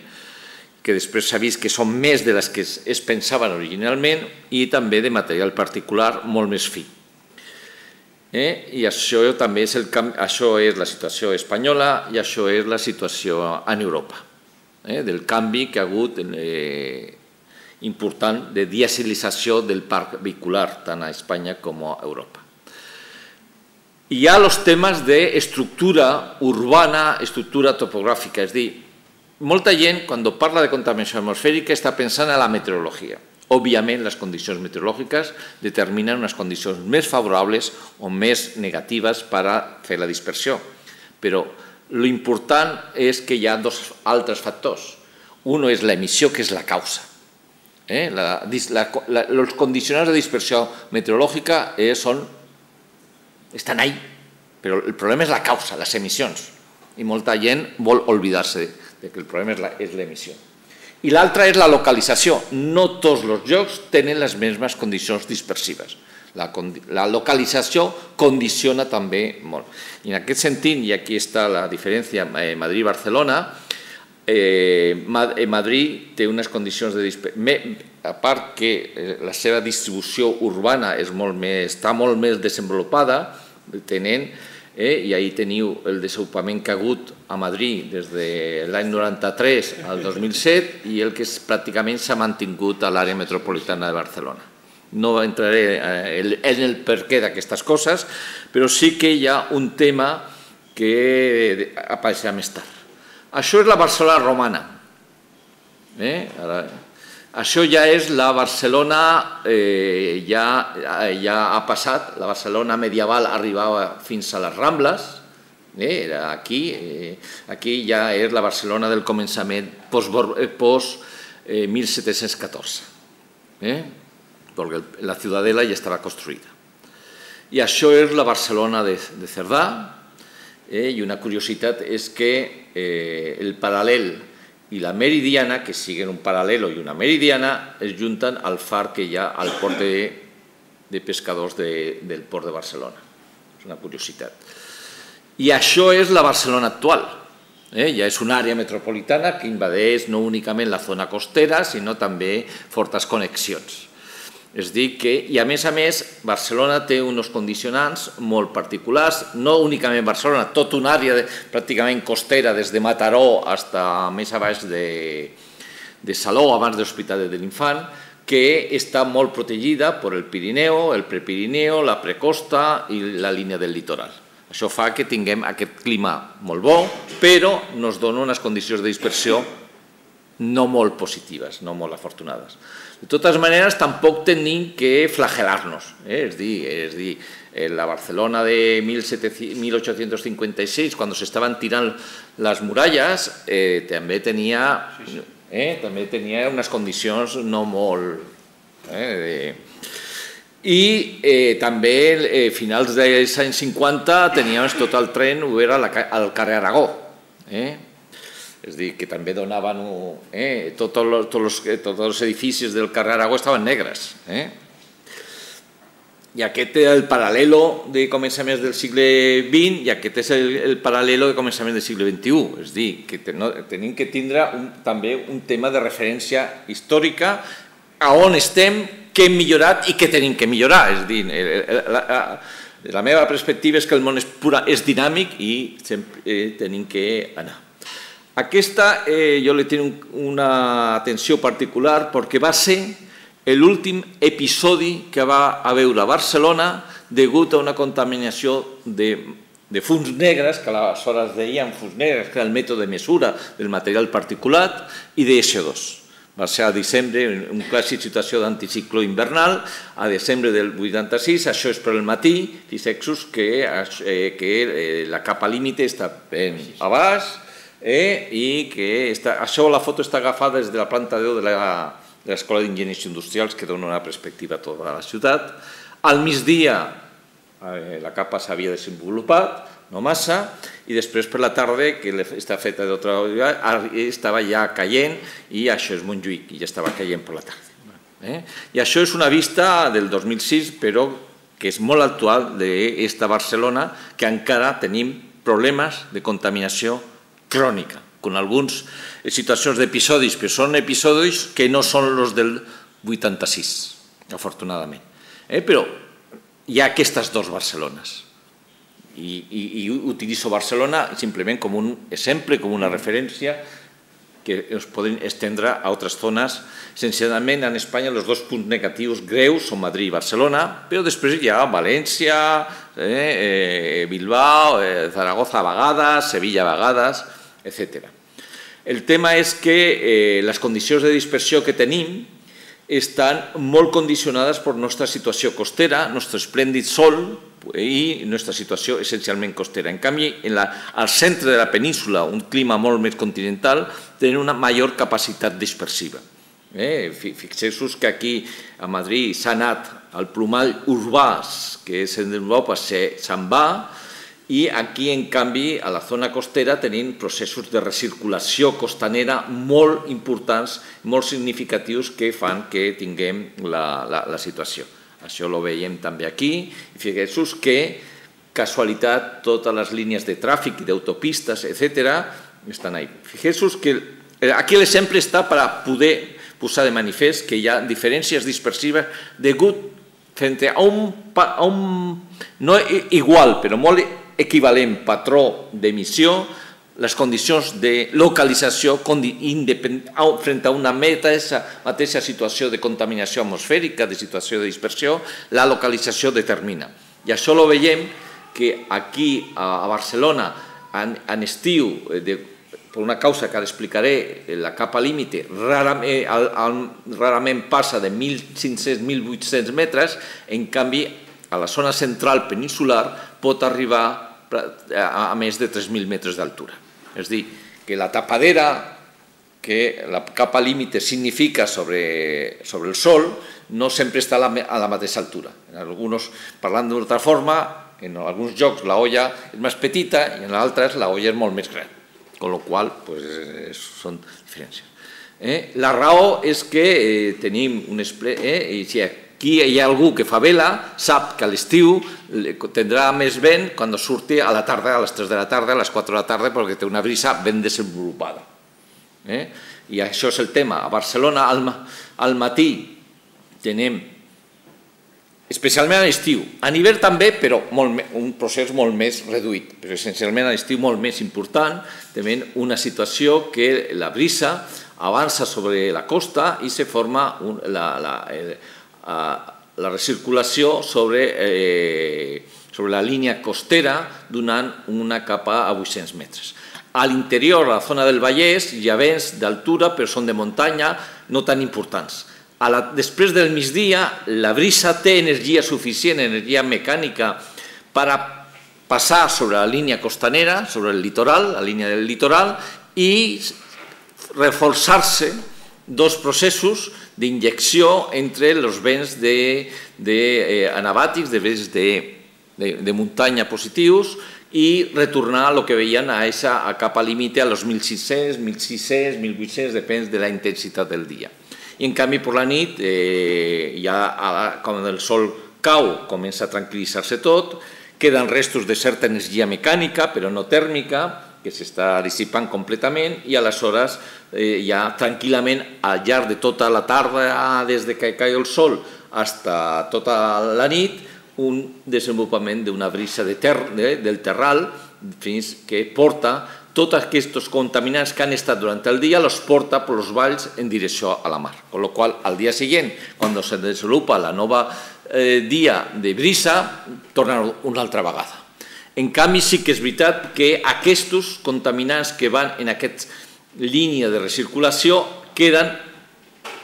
Speaker 3: que després s'ha vist que són més de les que es pensaven originalment, i també de material particular molt més fi. I això també és la situació espanyola i això és la situació en Europa, del canvi que ha hagut important de dieselització del parc vehicular tant a Espanya com a Europa. Hi ha els temes d'estructura urbana, estructura topogràfica, és a dir, molta gent quan parla de contaminació atmosfèrica està pensant en la meteorologia. Òbviament, les condicions meteorològiques determinen unes condicions més favorables o més negatives per a fer la dispersió. Però l'important és que hi ha dos altres factors. Un és l'emissió, que és la causa. Els condicionants de dispersió meteorològica estan ahí, però el problema és la causa, les emissions. I molta gent vol oblidar-se que el problema és l'emissió. I l'altra és la localització. No tots els llocs tenen les mateixes condicions dispersives. La localització condiciona també molt. I en aquest sentit, i aquí està la diferència Madrid-Barcelona, Madrid té unes condicions de dispersió, a part que la seva distribució urbana està molt més desenvolupada, tenen i ahir teniu el desenvolupament que ha hagut a Madrid des de l'any 93 al 2007 i el que pràcticament s'ha mantingut a l'àrea metropolitana de Barcelona. No entraré en el perquè d'aquestes coses, però sí que hi ha un tema que apareixerà més tard. Això és la Barcelona romana. Això ja és la Barcelona, ja ha passat, la Barcelona medieval arribava fins a les Rambles, aquí ja és la Barcelona del començament post-1714, perquè la ciutadela ja estava construïda. I això és la Barcelona de Cerdà, i una curiositat és que el paral·lel i la meridiana, que siguen un paral·lelo i una meridiana, es junten al far que hi ha al port de pescadors del port de Barcelona. És una curiositat. I això és la Barcelona actual. Ja és una àrea metropolitana que invadeix no únicament la zona costera, sinó també fortes connexions. És a dir que, i a més, Barcelona té uns condicionants molt particulars, no únicament Barcelona, tota una àrea pràcticament costera, des de Mataró fins a més a baix de Salou, abans de l'Hospital de l'Infant, que està molt protegida per el Pirineu, el Prepirineu, la precosta i la línia del litoral. Això fa que tinguem aquest clima molt bo, però ens dona unes condicions de dispersió no molt positives, no molt afortunades. De totes maneres, tampoc tenim que flagel·lar-nos. És dir, la Barcelona de 1856, quan s'estaven tirant les muralles, també tenia unes condicions no molt... I també, a finals dels anys 50, teníem tot el tren obert al carrer Aragó. És a dir, que també donaven... Tots els edificis del carrer Aragó estaven negres. I aquest és el paral·lelo de començaments del segle XX i aquest és el paral·lelo de començaments del segle XXI. És a dir, que tenim que tindre també un tema de referència històrica a on estem, què hem millorat i què tenim que millorar. És a dir, la meva perspectiva és que el món és dinàmic i sempre tenim que anar. Aquesta jo li tinc una atenció particular perquè va ser l'últim episodi que va haver a Barcelona degut a una contaminació de fums negres, que aleshores deien fums negres, que era el mètode de mesura del material particulat, i de CO2. Va ser a desembre, una clàssica situació d'anticicló invernal, a desembre del 86, això és per al matí, fixeu-vos que la capa límite està ben a baix i que això, la foto està agafada des de la planta 10 de l'Escola d'Enginyers Industrials, que dona una perspectiva a tota la ciutat. Al migdia la capa s'havia desenvolupat, no massa, i després per la tarda, que està feta d'altra manera, estava ja caient, i això és Montjuïc, i ja estava caient per la tarda. I això és una vista del 2006, però que és molt actual d'esta Barcelona, que encara tenim problemes de contaminació crònica, amb algunes situacions d'episodis, però són episodis que no són els del 86, afortunadament. Però hi ha aquestes dues Barcelones. I utilitzo Barcelona simplement com un exemple, com una referència que es poden estendre a altres zones. Essencialment, en Espanya, els dos punts negatius greus són Madrid i Barcelona, però després hi ha València, Bilbao, Zaragoza a vegades, Sevilla a vegades, etc. El tema és que les condicions de dispersió que tenim estan molt condicionades per la nostra situació costera, el nostre esplèndid sol i la nostra situació essencialment costera. En canvi, al centre de la península, un clima molt més continental, tenen una major capacitat dispersiva. Fixeu-vos que aquí a Madrid s'ha anat al plomall urbà, que és en Europa, se'n va, i aquí, en canvi, a la zona costera tenim processos de recirculació costanera molt importants, molt significatius, que fan que tinguem la situació. Això ho veiem també aquí. Fixeu-vos que, casualitat, totes les línies de tràfic i d'autopistes, etc., estan ahí. Fixeu-vos que aquí l'exemple està per poder posar de manifest que hi ha diferències dispersives degut frente a un no igual, però molt equivalent patró d'emissió, les condicions de localització frente a una mateixa situació de contaminació atmosfèrica, de situació de dispersió, la localització determina. I això ho veiem que aquí a Barcelona, en estiu, per una causa que ara explicaré, la capa límite rarament passa de 1.500-1.800 metres, en canvi, a la zona central peninsular pot arribar a més de 3.000 metres d'altura. És a dir, que la tapadera que la capa límite significa sobre el sol no sempre està a la mateixa altura. Parlant d'una altra forma, en alguns llocs la olla és més petita i en altres la olla és molt més gran, amb la qual cosa són diferències. La raó és que tenim un aquí hi ha algú que fa vela, sap que a l'estiu tindrà més vent quan surti a la tarda, a les 3 de la tarda, a les 4 de la tarda, perquè té una brisa ben desenvolupada. I això és el tema. A Barcelona, al matí, tenim, especialment a l'estiu, a l'hivern també, però un procés molt més reduït, però essencialment a l'estiu molt més important, tenim una situació que la brisa avança sobre la costa i se forma la recirculació sobre la línia costera donant una capa a 800 metres. A l'interior, a la zona del Vallès, hi ha vents d'altura, però són de muntanya, no tan importants. Després del migdia, la brisa té energia suficient, energia mecànica, per passar sobre la línia costanera, sobre el litoral, la línia del litoral, i reforçar-se dos processos d'injecció entre els vents anabàtics, de vents de muntanya positius, i retornar el que veien a capa límite a los 1.600, 1.600, 1.800, depèn de la intensitat del dia. I en canvi, per la nit, ja quan el sol cau, comença a tranquil·litzar-se tot, queden restos de certa energia mecànica, però no tèrmica, que s'està dissipant completament i aleshores ja tranquil·lament al llarg de tota la tarda, des que cau el sol fins a tota la nit, un desenvolupament d'una brisa del terral fins que porta tots aquests contaminants que han estat durant el dia, los porta per els valls en direcció a la mar. Con lo qual, al dia següent, quan se desenvolupa la nova dia de brisa, tornen una altra vegada. En canvi, sí que és veritat que aquests contaminants que van en aquesta línia de recirculació queden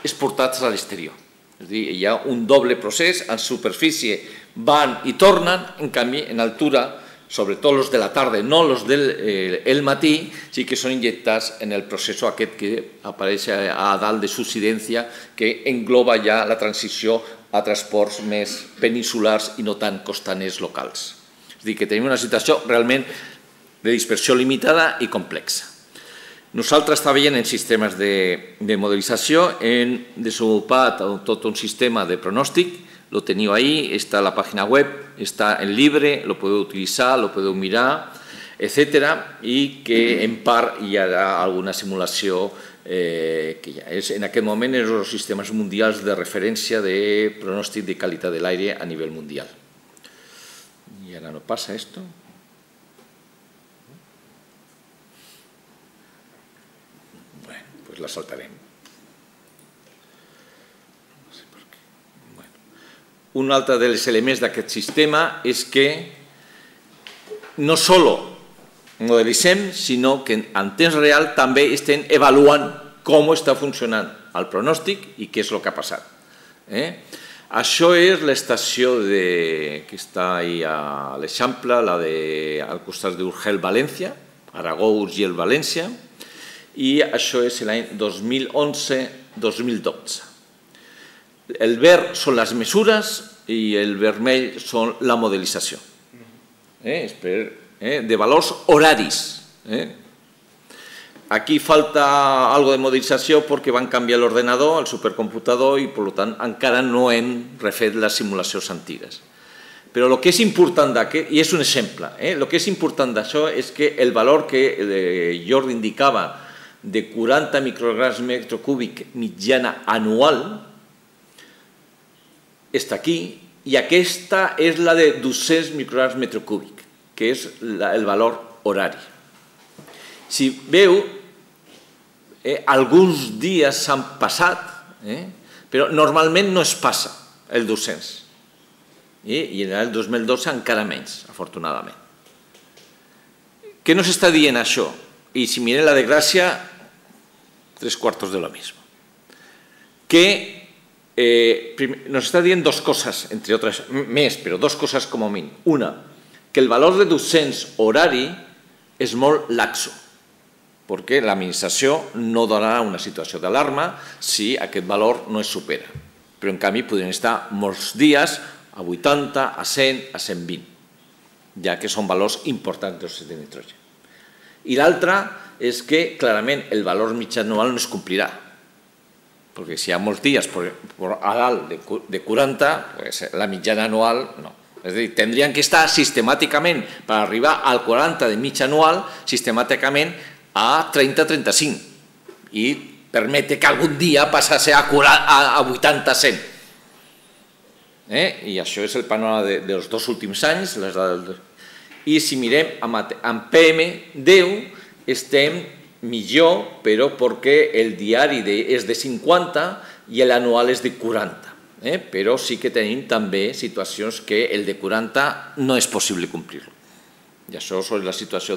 Speaker 3: exportats a l'exterior. És a dir, hi ha un doble procés, en superfície van i tornen, en canvi, en altura, sobretot els de la tarda, no els del matí, sí que són injectats en el procés aquest que apareix a dalt de subsidència, que engloba ja la transició a transports més peninsulars i no tan costaners locals. És a dir, que tenim una situació realment de dispersió limitada i complexa. Nosaltres treballem en sistemes de modelització, hem desenvolupat tot un sistema de pronòstic, lo teniu ahí, está en la página web, está en libre, lo podeu utilizar, lo podeu mirar, etc. I que en part hi ha alguna simulació que ja és en aquest moment en els sistemes mundials de referència de pronòstic de qualitat de l'aire a nivell mundial. I ara no passa esto. Bueno, pues la saltarem. Un altre dels elements d'aquest sistema és que no sols modelitzem, sinó que en temps real també estem avaluant com està funcionant el pronòstic i què és el que ha passat. Això és l'estació que està a l'Eixample, al costat d'Urgell-València, Aragó-Urgell-València, i això és l'any 2011-2012. El verd són les mesures i el vermell són la modelització. De valors horaris. Aquí falta algo de modelització perquè van canviar l'ordenador, el supercomputador, i per tant encara no hem refet les simulacions antigues. Però el que és important d'aquest, i és un exemple, el que és important d'això és que el valor que Jordi indicava de 40 micrograms metre cúbic mitjana anual està aquí, i aquesta és la de 200 micrograms metre cúbic, que és el valor horari. Si veu, alguns dies s'han passat, però normalment no es passa el 200. I en el 2012 encara menys, afortunadament. Què nos està dient això? I si mirem la desgràcia, 3/4 de lo mismo. Que nos está dient dos cosas, entre otras, més, però dos cosas com a mínim. Una, que el valor de 200 horari és molt laxo, perquè l'administració no donarà una situació d'alarma si aquest valor no es supera. Però, en canvi, podrien estar molts dies a 80, a 100, a 120, ja que són valors importants d'òxid de nitrogen. I l'altra és que, clarament, el valor mitjà anual no es complirà, perquè si hi ha molts dies a dalt de 40, la mitjana anual no. És a dir, tindrien que estar sistemàticament, per arribar al 40 de mitja anual, sistemàticament a 30-35, i permet que algun dia passassi a 80-100. I això és el panorama dels dos últims anys. I si mirem en PM10 estem millor, però perquè el diari és de 50 i l'anual és de 40. Però sí que tenim també situacions que el de 40 no és possible complir-lo. I això és la situació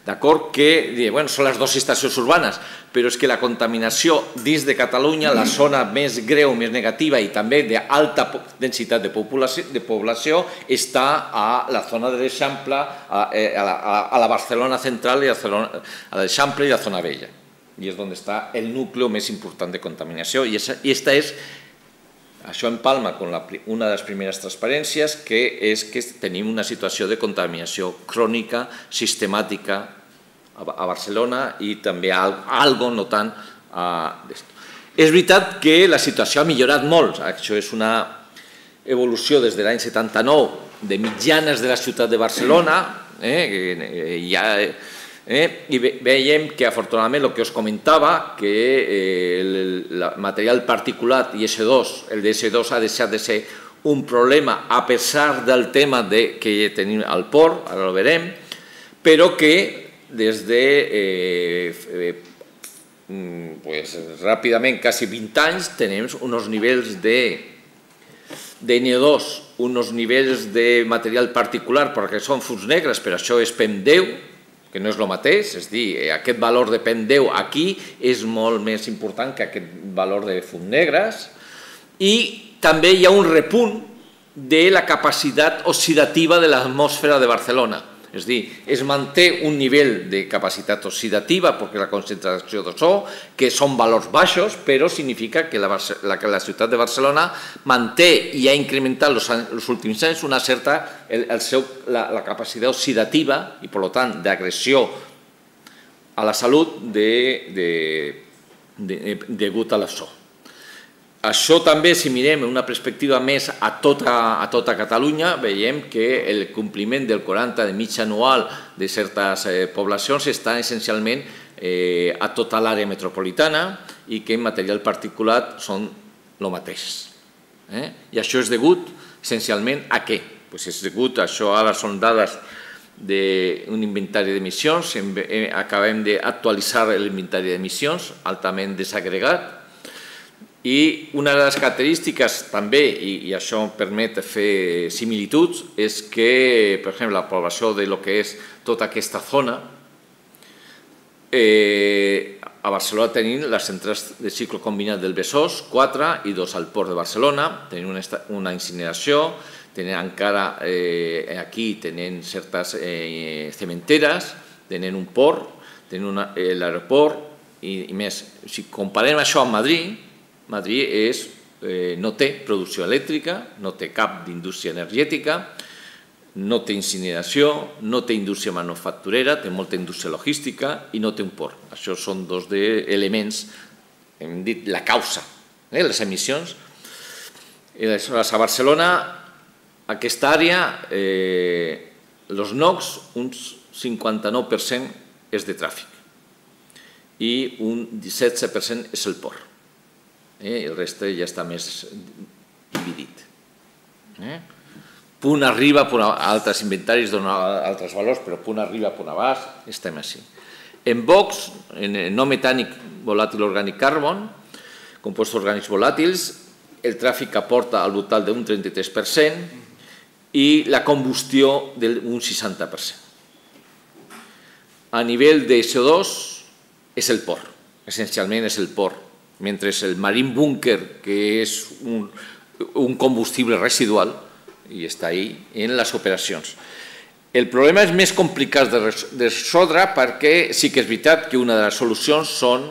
Speaker 3: d'acord que són les dues estacions urbanes, però és que la contaminació dins de Catalunya, la zona més greu, més negativa i també d'alta densitat de població, està a la zona de l'Eixample, a la Barcelona central, a l'Eixample i a la zona vella. I és on està el nucli més important de contaminació. I aquesta és, això empalma amb una de les primeres transparències, que és que tenim una situació de contaminació crònica, sistemàtica a Barcelona i també algo no tant És veritat que la situació ha millorat molt. Això és una evolució des de l'any 79 de mitjanes de la ciutat de Barcelona, i veiem que afortunadament el que us comentava, que el material particulat IS2, el de IS2 ha deixat de ser un problema a pesar del tema que tenim al port, ara ho verem, però que des de ràpidament, quasi 20 anys, tenim uns nivells de NO2, uns nivells de material particular, perquè són fums negres, però això és PEM10, que no és el mateix, és a dir, aquest valor de PEM10 aquí és molt més important que aquest valor de fums negres, i també hi ha un repunt de la capacitat oxidativa de l'atmosfera de Barcelona. És a dir, es manté un nivell de capacitat oxidativa perquè la concentració d'ozó, que són valors baixos, però significa que la ciutat de Barcelona manté i ha incrementat els últims anys una certa la capacitat oxidativa i, per tant, d'agressió a la salut degut a l'ozó. Això també, si mirem una perspectiva més a tota Catalunya, veiem que el compliment del 40 de mitja anual de certes poblacions està essencialment a tota l'àrea metropolitana i que en material particular són el mateix. I això és degut essencialment a què? És degut, això ara són dades d'un inventari d'emissions, acabem d'actualitzar l'inventari d'emissions altament desagregat. I una de les característiques també, i això permet fer similituds, és que, per exemple, la població de lo que és tota aquesta zona, a Barcelona tenim les centrals de cicle combinat del Besòs, 4 i 2 al Port de Barcelona, tenim una incineració, tenen encara aquí tenen certes cementeres, tenen un port, tenen l'aeroport i més. Si comparem això amb Madrid, Madrid no té producció elèctrica, no té cap d'indústria energètica, no té incineració, no té indústria manufacturera, té molta indústria logística i no té un port. Això són dos elements, hem dit la causa, les emissions. A Barcelona, aquesta àrea, els NOx, un 59% és de tràfic i un 17% és el port. El reste ja està més dividit. Punt arriba, altres inventaris donen altres valors, però punt arriba, punt abaix, estem així. En VOX, en no metànic volàtil orgànic carbon, compostos orgànics volàtils, el tràfic aporta al voltant d'un 33% i la combustió d'un 60%. A nivell de CO2 és el port, essencialment és el port, mentre el marine bunker, que és un combustible residual, i està ahí en les operacions. El problema és més complicat de resoldre perquè sí que és veritat que una de les solucions són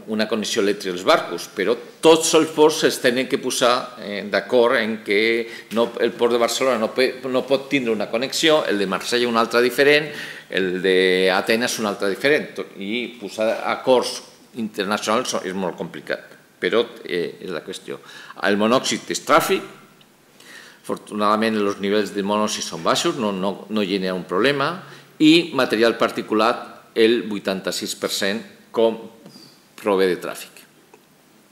Speaker 3: una connexió elèctrica dels barcos, però tots els ports es tenen que posar d'acord en que el port de Barcelona no pot tindre una connexió, el de Marsella una altra diferent, el d'Atenes una altra diferent, i posar acords internacionals és molt complicat, però és la qüestió. El monòxid és tràfic, afortunadament els nivells de monòxid són baixos, no genera un problema, i material particular, el 86% com prové de tràfic.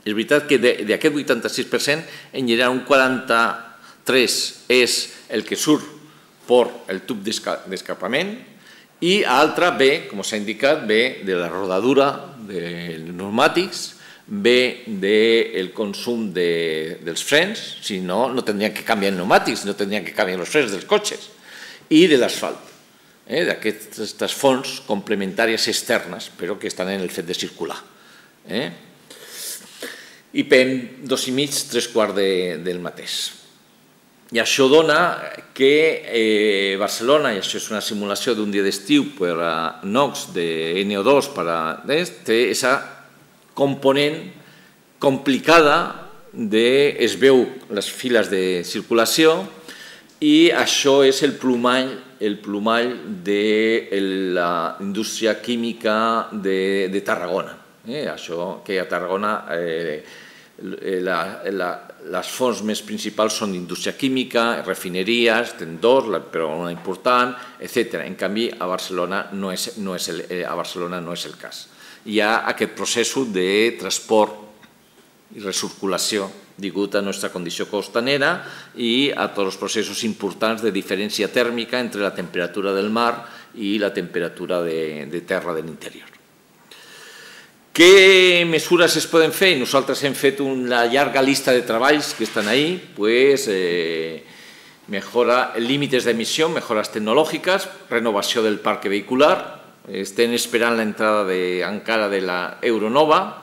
Speaker 3: És veritat que d'aquest 86% en general un 43% és el que surt per el tub d'escapament i l'altre ve, com s'ha indicat, ve de la rodadura dels pneumàtics, ve del consum dels frens, si no, no tindrien que canviar pneumàtics, no tindrien que canviar els frens dels cotxes, i de l'asfalt, d'aquestes fonts complementàries externes, però que estan en el fet de circular. I PEM 2,5, 3/4 del mateix. I això dona que Barcelona, i això és una simulació d'un dia d'estiu per a NOx de NO2, té aquesta component complicada es veu les files de circulació i això és el plomall de la indústria química de Tarragona. Això que a Tarragona les fonts més principals són d'indústria química, refineries, tendors, però una important, etc. En canvi, a Barcelona no és el cas. Hi ha aquest procés de transport i recirculació degut a la nostra condició costanera i a tots els processos importants de diferència tèrmica entre la temperatura del mar i la temperatura de terra de l'interior. Què mesures es poden fer? Nosaltres hem fet una llarga llista de treballs que estan ahí, mejora límites d'emissió, mejoras tecnològiques, renovació del parc vehicular, estem esperant l'entrada encara de la Euronova,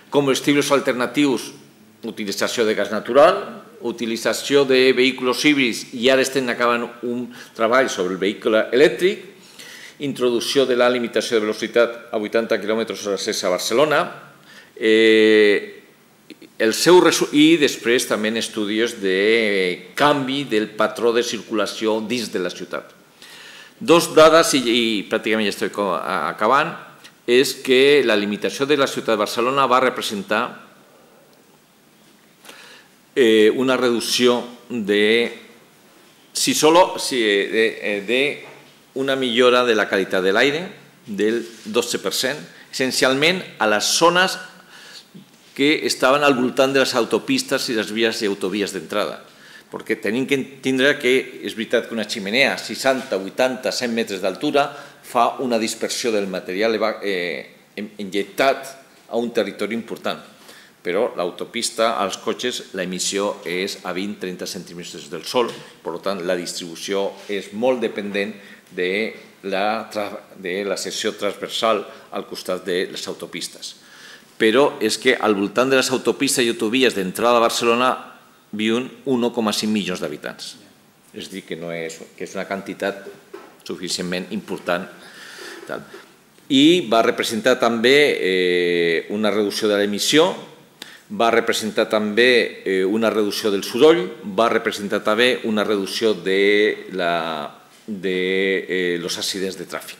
Speaker 3: combustibles alternatius, utilització de gas natural, utilització de vehicles híbrids i ara estem acabant un treball sobre el vehicle elèctric, introducció de la limitació de velocitat a 80 km/h a Barcelona i després també estudis de canvi del patró de circulació dins de la ciutat. Dos dades, i pràcticament ja estic acabant, és que la limitació de la ciutat de Barcelona va representar una reducció de una millora de la qualitat de l'aire del 12%, essencialment a les zones que estaven al voltant de les autopistes i les vies i autovies d'entrada. Perquè tenim que entendre que és veritat que una ximenea a 60, 80, 100 metres d'altura fa una dispersió del material injectat a un territori important. Però l'autopista, als cotxes, l'emissió és a 20-30 centímetres del sol, per tant, la distribució és molt dependent de la secció transversal al costat de les autopistes. Però és que al voltant de les autopistes i autovies d'entrada a Barcelona viuen 1,5 milions d'habitants. És a dir, que és una quantitat suficientment important. I va representar també una reducció de l'emissió, va representar també una reducció del soroll, va representar també una reducció de los accidents de tràfic.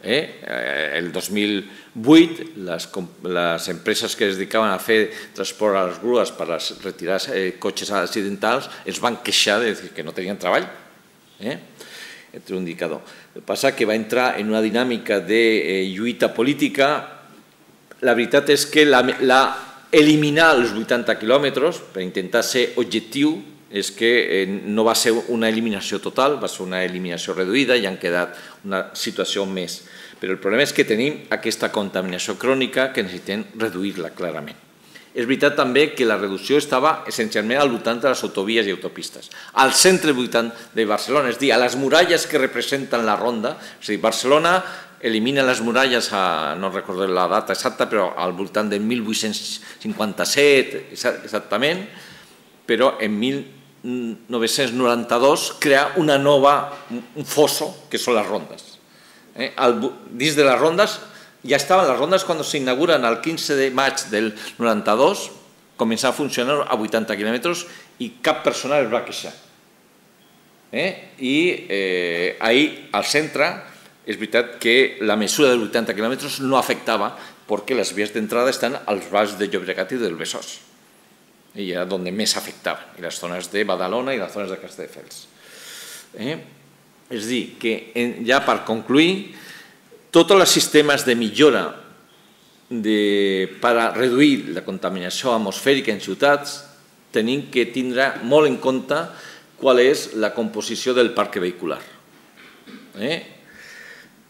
Speaker 3: El 2008, les empreses que es dedicaven a fer transport a les grues per retirar cotxes accidentals es van queixar de dir que no tenien treball. Entre un indicador. El que passa és que va entrar en una dinàmica de lluita política. La veritat és que eliminar els 80 quilòmetres per intentar ser objectiu és que no va ser una eliminació total, va ser una eliminació reduïda i han quedat una situació més. Però el problema és que tenim aquesta contaminació crònica que necessitem reduir-la clarament. És veritat també que la reducció estava essencialment al voltant de les autovies i autopistes. Al centre de Barcelona, és a dir, a les muralles que representen la ronda, és a dir, Barcelona elimina les muralles, no recordo la data exacta, però al voltant de 1857 exactament, però en 1992 crea un fosso que són les rondes. Dins de les rondes, ja estaven les rondes quan s'inauguren el 15 de maig del 92, començava a funcionar a 80 quilòmetres i cap persona es va queixar. I ahir al centre és veritat que la mesura dels 80 quilòmetres no afectava perquè les vies d'entrada estan als valls de Llobregat i del Besòs. I era on més afectaven, i les zones de Badalona i les zones de Castelldefels. És a dir, que ja per concluir, tots els sistemes de millora per a reduir la contaminació atmosfèrica en ciutats tenim que tindre molt en compte qual és la composició del parc vehicular.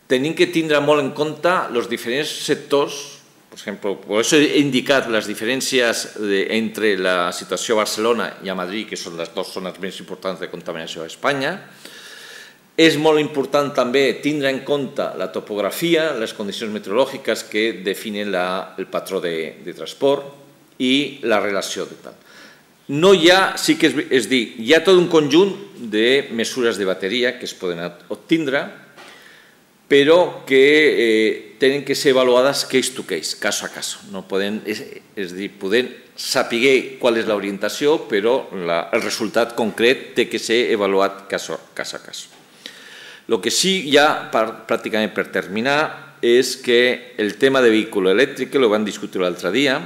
Speaker 3: Tenim que tindre molt en compte els diferents sectors. Per exemple, per això he indicat les diferències entre la situació a Barcelona i a Madrid, que són les dues zones més importants de contaminació a Espanya. És molt important també tindre en compte la topografia, les condicions meteorològiques que definen el patró de transport i la relació de tal. No hi ha, sí que és dir, hi ha tot un conjunt de mesures de bateria que es poden obtindre, però que tenen que ser avaluades case to case, caso a caso. És a dir, podem saber qual és l'orientació, però el resultat concret té que ser avaluat cas a cas. El que sí, ja pràcticament per terminar, és que el tema de vehicle elèctric, que ho vam discutir l'altre dia,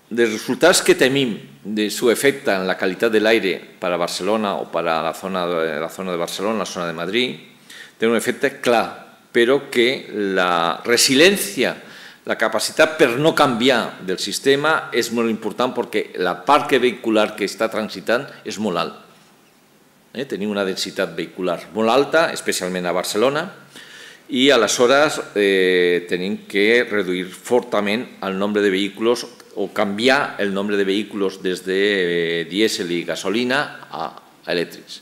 Speaker 3: dels resultats que tenim de su efecte en la qualitat de l'aire per a Barcelona o per a la zona de Barcelona, la zona de Madrid, té un efecte clar, però que la resiliència, la capacitat per no canviar del sistema és molt important perquè la parc vehicular que està transitant és molt alt. Tenim una densitat vehicular molt alta, especialment a Barcelona, i aleshores tenim que reduir fortament el nombre de vehicles o canviar el nombre de vehicles des de dièsel i gasolina a elèctrics.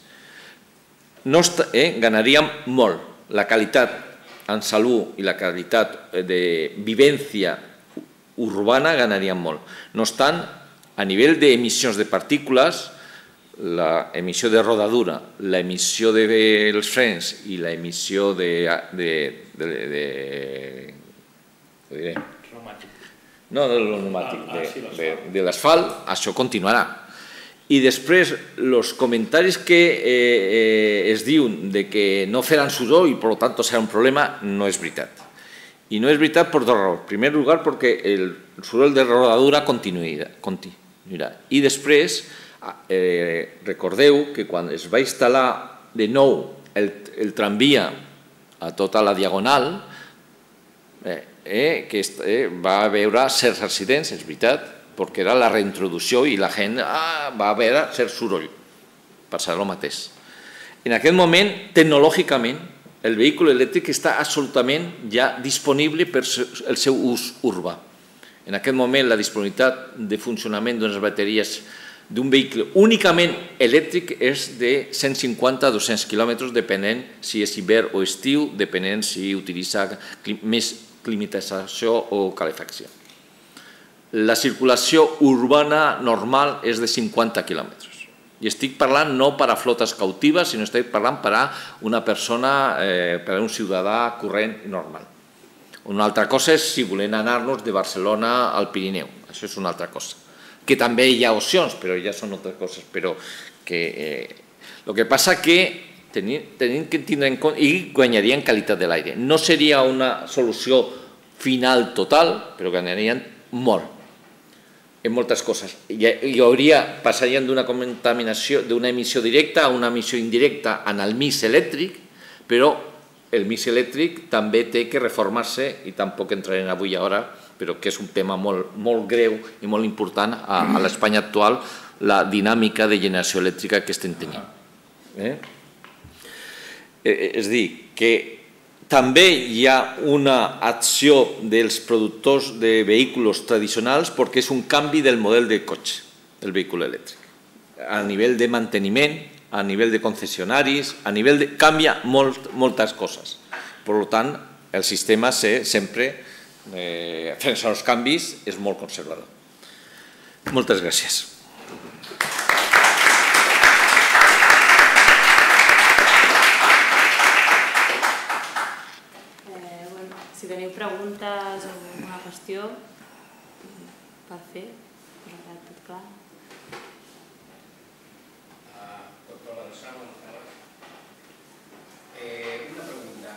Speaker 3: Ganaríem molt. La qualitat en salut i la qualitat de vivència urbana ganaríem molt. No obstant, a nivell d'emissions de partícules, l'emissió de rodadura, l'emissió dels frens i l'emissió de l'asfalt, això continuarà. I després, els comentaris que es diuen que no faran soroll i per tant serà un problema, no és veritat. I no és veritat per dues raons. En primer lloc, perquè el soroll de rodadura continuarà. I després, recordeu que quan es va instal·lar de nou el tramvia a tota la diagonal, va haver certs accidents, és veritat, perquè era la reintroducció i la gent va haver cert soroll. Passarà el mateix. En aquest moment, tecnològicament, el vehicle elèctric està absolutament ja disponible per al seu ús urbà. En aquest moment, la disponibilitat de funcionament d'unes bateries d'un vehicle únicament elèctric és de 150 a 200 quilòmetres, depenent si és hivern o estiu, depenent si utilitza més climatització o calefacció. La circulació urbana normal és de 50 quilòmetres. I estic parlant no per a flotes cautives, sinó estic parlant per a una persona, per a un ciutadà corrent normal. Una altra cosa és si volem anar-nos de Barcelona al Pirineu. Això és una altra cosa. Que també hi ha opcions, però ja són altres coses. Però el que passa que tenim que tindre en compte i guanyaríem qualitat de l'aire. No seria una solució final total, però guanyarien molt en moltes coses. Passaríem d'una contaminació, d'una emissió directa a una emissió indirecta en el mix elèctric, però el mix elèctric també té que reformar-se, i tampoc entrarem avui ara, però que és un tema molt greu i molt important a l'Espanya actual, la dinàmica de generació elèctrica que estem tenint. És a dir, que també hi ha una acció dels productors de vehicles tradicionals perquè és un canvi del model de cotxe, del vehicle elèctric. A nivell de manteniment, a nivell de concessionaris, a nivell de... canvia moltes coses. Per tant, el sistema sempre, frente als canvis, és molt conservador. Moltes gràcies.
Speaker 4: Si teniu preguntes o alguna qüestió per fer, us ha quedat tot clar?
Speaker 5: Doctor Ladrosano, una pregunta.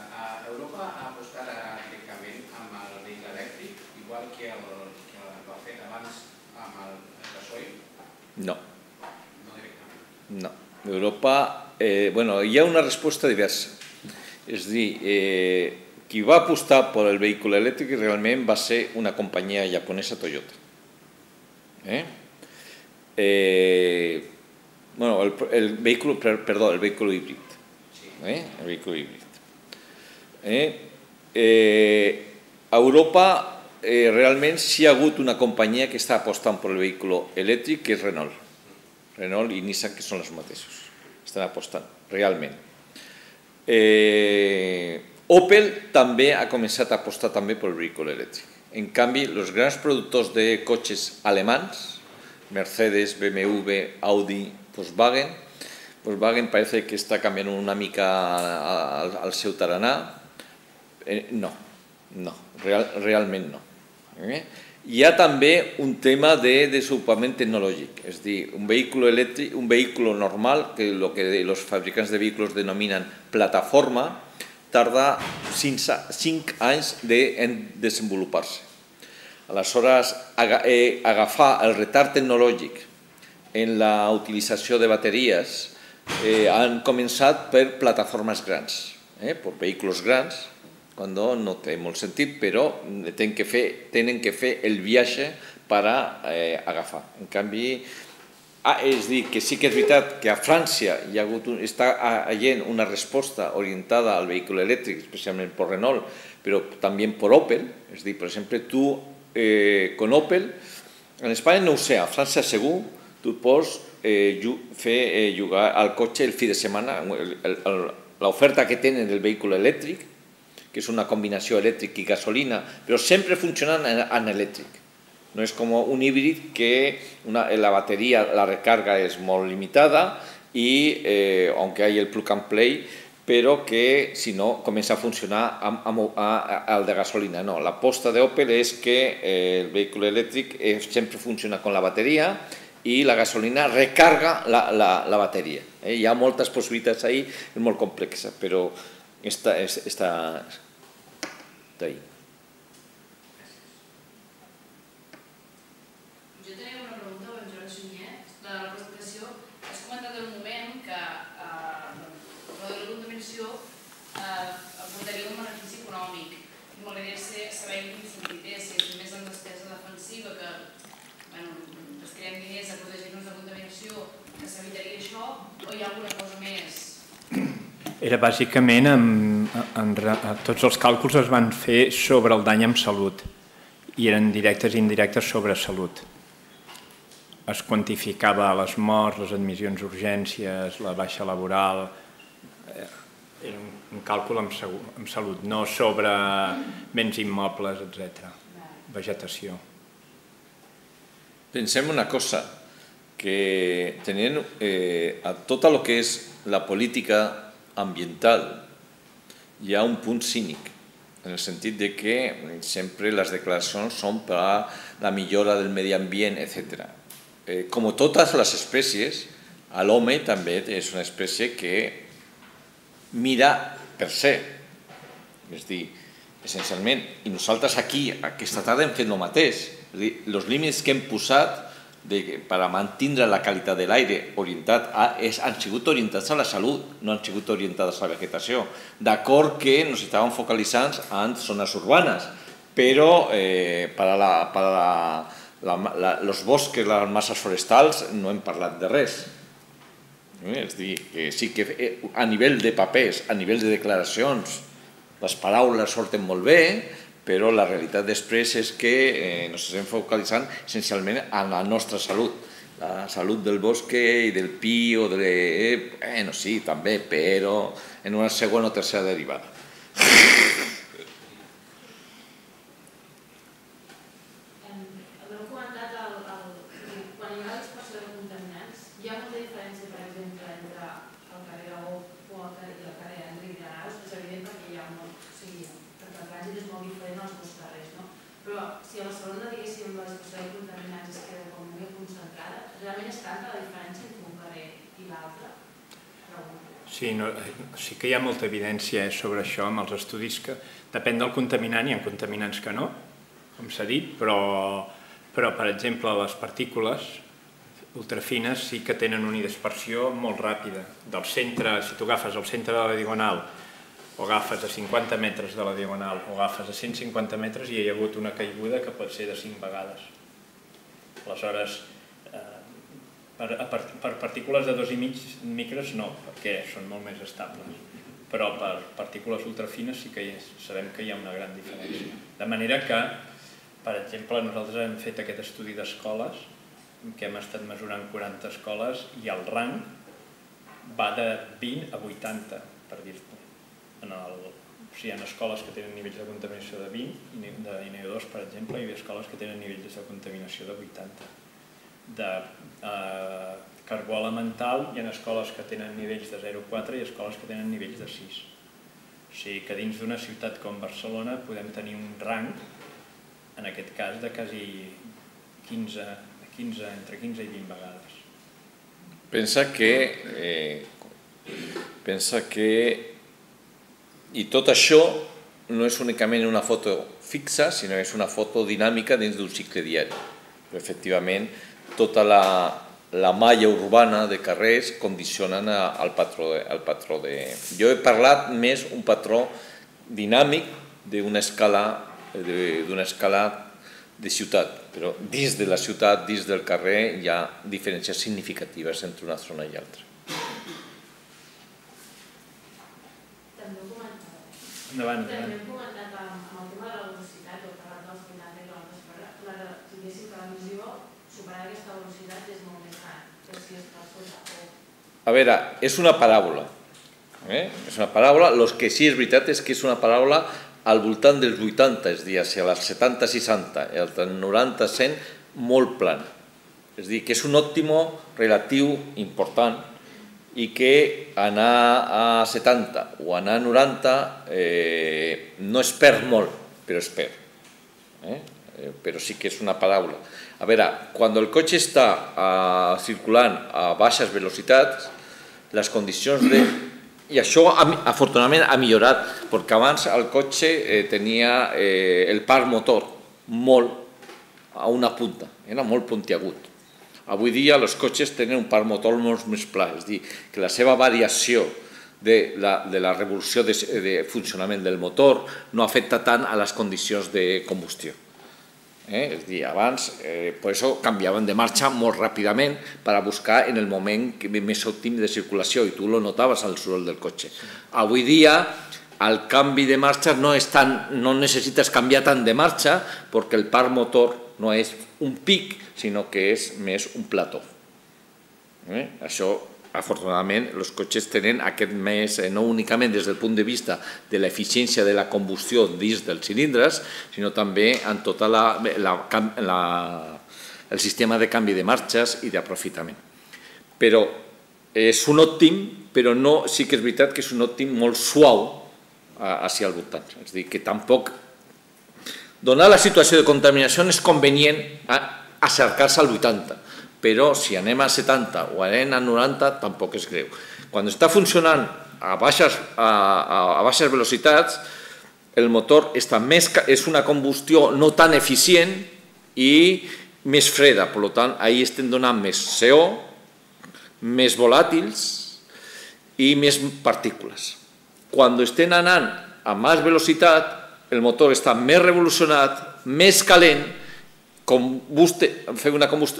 Speaker 5: Europa ha apostat directament amb el vehicle elèctric, igual que va fer abans amb el gasoil?
Speaker 3: No.
Speaker 5: No directament?
Speaker 3: No. Europa, hi ha una resposta diversa. És a dir, qui va apostar per el vehicle elèctric realment va ser una companyia japonesa, Toyota. El vehicle híbrid. El vehicle híbrid. A Europa realment sí hi ha hagut una companyia que està apostant per el vehicle elèctric, que és Renault. Renault i Nissan, que són els mateixos. Estan apostant, realment. Opel també ha començat a apostar també pel vehicle elèctric. En canvi, els grans productors de cotxes alemans, Mercedes, BMW, Audi, Volkswagen parece que està canviant una mica el seu tarannà. No, realment no. Hi ha també un tema de desenvolupament tecnològic, és a dir, un vehicle elèctric, un vehicle normal, que el que els fabricants de vehicles denominen plataforma, tarda 5 anys en desenvolupar-se. Aleshores, agafar el retard tecnològic en la utilització de bateries han començat per plataformes grans, per vehicles grans, quan no té molt sentit, però tenen que fer el viatge per agafar. En canvi, és a dir, que sí que és veritat que a França està havent una resposta orientada al vehicle elèctric, especialment per Renault, però també per Opel. És a dir, per exemple, tu, con Opel, en Espanya no ho sé, a França segur, tu pots fer jugar al cotxe el fi de setmana, l'oferta que tenen del vehicle elèctric, que és una combinació elèctric i gasolina, però sempre funcionant en elèctric. No és com un híbrid que la bateria, la recarga és molt limitada i, aunque hay el plug and play, però que si no comença a funcionar al de gasolina. No, l'aposta d'Opel és que el vehicle elèctric sempre funciona con la bateria i la gasolina recarga la bateria. Hi ha moltes possibilitats ahí, és molt complexa, però està ahí.
Speaker 6: Jo tenia una pregunta per en Jordi Sunyer. De la presentació has comentat en un moment que la contaminació aportaria un benefici econòmic. M'agradaria saber en quin sentit és, si és més en despesa defensiva, que destirem diners a protegir-nos de contaminació, que s'evitaria això, o hi ha alguna cosa més?
Speaker 2: Era bàsicament, tots els càlculs es van fer sobre el dany en salut i eren directes i indirectes sobre salut. Es quantificava les morts, les admissions d'urgències, la baixa laboral. Era un càlcul en salut, no sobre béns immobles, etc. Vegetació.
Speaker 3: Pensem una cosa, que tenint a tot el que és la política ambiental hi ha un punt cínic, en el sentit de que sempre les declaracions són per a la millora del medi ambient, etc. Com totes les espècies, l'home també és una espècie que mira per ser. És a dir, essencialment, i nosaltres aquí, aquesta tarda, hem fet el mateix. Els límits que hem posat per a mantenir la qualitat de l'aire han sigut orientats a la salut, no han sigut orientats a la vegetació. D'acord que ens estàvem focalitzant en zones urbanes, però per a els boscs, les masses forestals, no hem parlat de res. És a dir, que sí que a nivell de papers, a nivell de declaracions, les paraules surten molt bé, però la realitat després és que ens estem focalitzant essencialment en la nostra salut. La salut del bosc i del pi o de... Bueno, sí, també, però en una segona o tercera derivada.
Speaker 6: Heu comentat quan hi ha la dispersió de contaminants, hi ha molta diferència, per exemple, entre el carrer Agó o la carrer Enric Granados, és evident perquè hi ha molt... perquè el trànsit és molt diferent als dos carrers, no? Però si a Barcelona, diguéssim, la dispersió de contaminants es queda com molt concentrada, realment és tanta la diferència entre un carrer i l'altre?
Speaker 2: Sí que hi ha molta evidència sobre això amb els estudis que depèn del contaminant, hi ha contaminants que no, com s'ha dit, però per exemple les partícules ultrafines sí que tenen una dispersió molt ràpida. Del centre, si tu agafes el centre de la diagonal o agafes a 50 metres de la diagonal o agafes a 150 metres, hi ha hagut una caiguda que pot ser de 5 vegades. Aleshores, per partícules de 2,5 micres no, perquè són molt més estables. Però per partícules ultrafines sí que sabem que hi ha una gran diferència. De manera que, per exemple, nosaltres hem fet aquest estudi d'escoles, que hem estat mesurant 40 escoles, i el rang va de 20 a 80, per dir-te. Hi ha escoles que tenen nivells de contaminació de 20, de NO2, per exemple, i hi ha escoles que tenen nivells de contaminació de 80. De carbó elemental hi ha escoles que tenen nivells de 0,4 i escoles que tenen nivells de 6. O sigui que dins d'una ciutat com Barcelona podem tenir un rang, en aquest cas, de quasi 15, entre 15 i 20 vegades.
Speaker 3: Pensa que i tot això no és únicament una foto fixa, sinó que és una foto dinàmica dins d'un cicle diari. Efectivament, tota la malla urbana de carrers condicionen el patró de... Jo he parlat més un patró dinàmic d'una escala de ciutat, però dins de la ciutat, dins del carrer, hi ha diferències significatives entre una zona i l'altra.
Speaker 2: Endavant.
Speaker 6: També hem comentat amb el tema de la velocitat, o parlat dels 80 km per hora, diguéssim que la visió, superar aquesta velocitat és molt més gran, que si és per sota o...
Speaker 3: A veure, és una paràbola. És una paràbola, el que sí és veritat és que és una paràbola al voltant dels 80, és a dir, a les 70-60, i al 90-100, molt plana. És a dir, que és un òptimo relatiu important i que anar a 70 o anar a 90 no es perd molt, però es perd. Però sí que és una paràbola. A veure, quan el cotxe està circulant a baixes velocitats, les condicions de... I això, afortunadament, ha millorat, perquè abans el cotxe tenia el parc motor molt a una punta, era molt puntiagut. Avui dia els cotxes tenen un parc motor molt més pla, és a dir, que la seva variació de la revolució de funcionament del motor no afecta tant a les condicions de combustió. És a dir, abans, per això canviaven de marxa molt ràpidament per a buscar en el moment més òptim de circulació, i tu lo notaves al soroll del cotxe. Avui dia, el canvi de marxa no necessites canviar tant de marxa perquè el parc motor no és un pic, sinó que és més un plató. Això, afortunadament, els cotxes tenen aquest més, no únicament des del punt de vista de l'eficiència de la combustió dins dels cilindres, sinó també en tot el sistema de canvi de marxes i d'aprofitament. Però és un òptim, però sí que és veritat que és un òptim molt suau hacia el voltant. És a dir, que tampoc... Donar la situació de contaminació és convenient acercar-se al 80, però si anem a 70 o anem a 90 tampoc és greu. Quan està funcionant a baixes velocitats, el motor és una combustió no tan eficient i més freda, per tant, ahí estem donant més CO, més volàtils i més partícules. Quan estem anant a més velocitat, el motor està més revolucionat, més calent,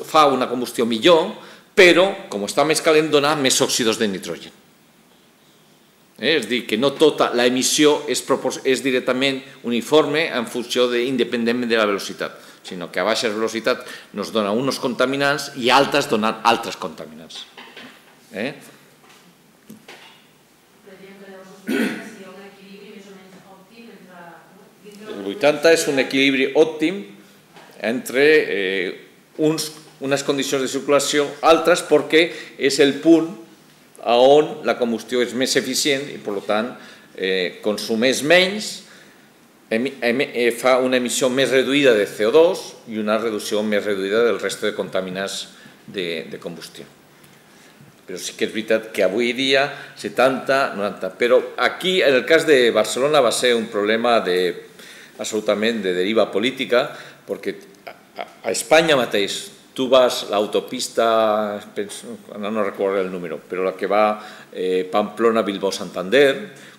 Speaker 3: fa una combustió millor, però, com està més calent, dona més òxids de nitrogen. És a dir, que no tota l'emissió és directament uniforme en funció independentment de la velocitat, sinó que a baixes velocitats ens dona uns contaminants i altes donen altres contaminants. El 80 és un equilibri òptim entre unes condicions de circulació altres perquè és el punt on la combustió és més eficient i, per tant, consumeix menys, fa una emissió més reduïda de CO2 i una reducció més reduïda del resta de contaminants de combustió. Però sí que és veritat que avui dia 70, 90... Però aquí, en el cas de Barcelona, va ser un problema absolutament de deriva política, perquè a Espanya mateix tu vas a l'autopista, no recordo el número, però la que va Pamplona-Bilbao-Santander,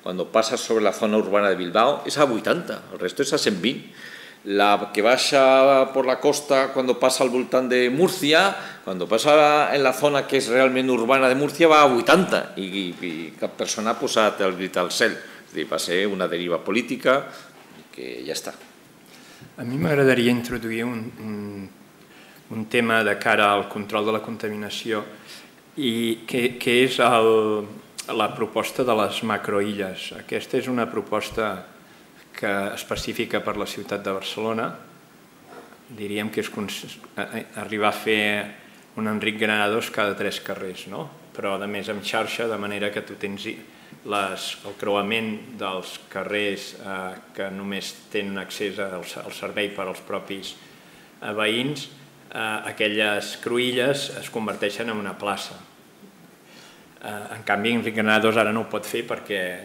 Speaker 3: quan passes sobre la zona urbana de Bilbao, és a 80, el resto és a 120. La que baixa por la costa cuando pasa al voltant de Murcia, cuando pasa en la zona que és realment urbana de Murcia va a 80 i cap persona ha posat el grit al cel. És a dir, va ser una deriva política que ja està.
Speaker 2: A mi m'agradaria introduir un tema de cara al control de la contaminació i que és la proposta de les macroilles. Aquesta és una proposta específica per la ciutat de Barcelona. Diríem que és arribar a fer un Enric Granados cada 3 carrers, però a més amb xarxa, de manera que tu tens el creuament dels carrers que només tenen accés al servei per als propis veïns, aquelles cruïlles es converteixen en una plaça. En canvi, Enric Granados ara no ho pot fer perquè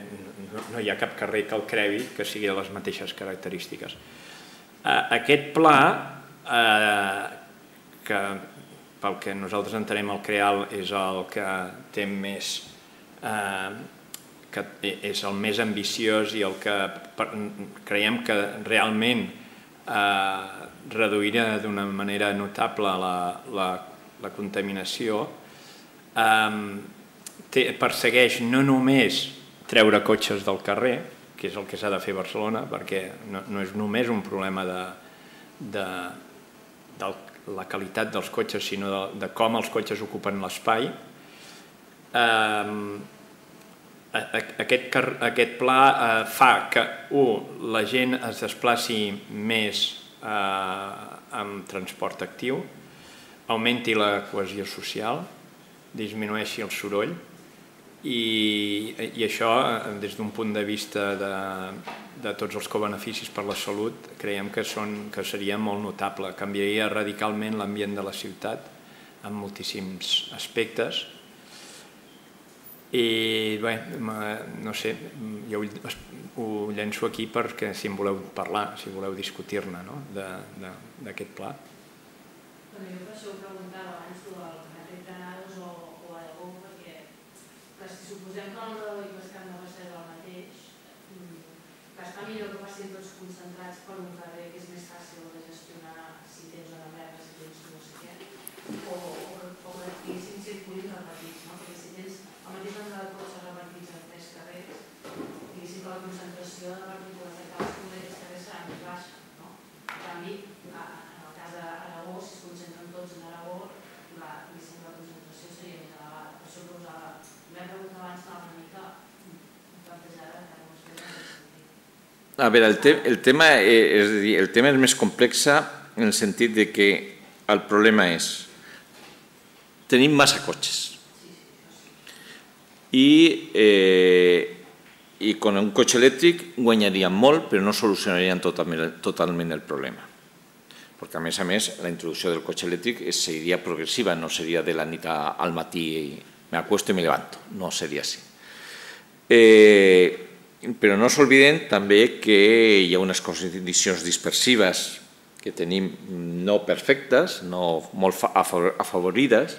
Speaker 2: no hi ha cap carrer que el crevi que sigui de les mateixes característiques. Aquest pla, que pel que nosaltres entenem el CREAL és el que té més, que és el més ambiciós i el que creiem que realment reduirà d'una manera notable la contaminació, persegueix no només treure cotxes del carrer, que és el que s'ha de fer a Barcelona, perquè no és només un problema de la qualitat dels cotxes, sinó de com els cotxes ocupen l'espai. Aquest pla fa que, la gent es desplaci més amb transport actiu, augmenti la cohesió social, disminueixi el soroll, i això, des d'un punt de vista de tots els cobeneficis per la salut, creiem que seria molt notable. Canviaria radicalment l'ambient de la ciutat en moltíssims aspectes. I bé, no sé, jo ho llenço aquí perquè si en voleu parlar, si voleu discutir-ne d'aquest pla.
Speaker 6: Jo per això ho preguntava abans del carrer Granados o Aragó, perquè si suposem que el Rodó i Pescat no va ser el mateix, està millor que passin tots concentrats per un carrer que és més fàcil de gestionar si tens una merda, si tens no sé què, o que tinguessin circuits repetits, perquè si tens el mateix nombre de cotxes repartits en 3 carrers, diguéssim que la concentració de partícules de cadascun d'aquests carrers serà més baixa. En canvi, en el cas d'Aragó, si es concentren tots en Aragó, la concentració seria més elevada. Per això que usava la pregunta abans estava una mica plantejada que no es fes en aquest sentit.
Speaker 3: A veure, el tema és més complex en el sentit de que el problema és tenim massa cotxes i con un cotxe elèctric guanyaríem molt però no solucionarien totalment el problema, perquè a més, la introducció del cotxe elèctric seria progressiva, no seria de la nit al matí, me acuesto y me levanto, no seria així. Però no s'olviden també que hi ha unes condicions dispersives que tenim no perfectes, no molt afavorides,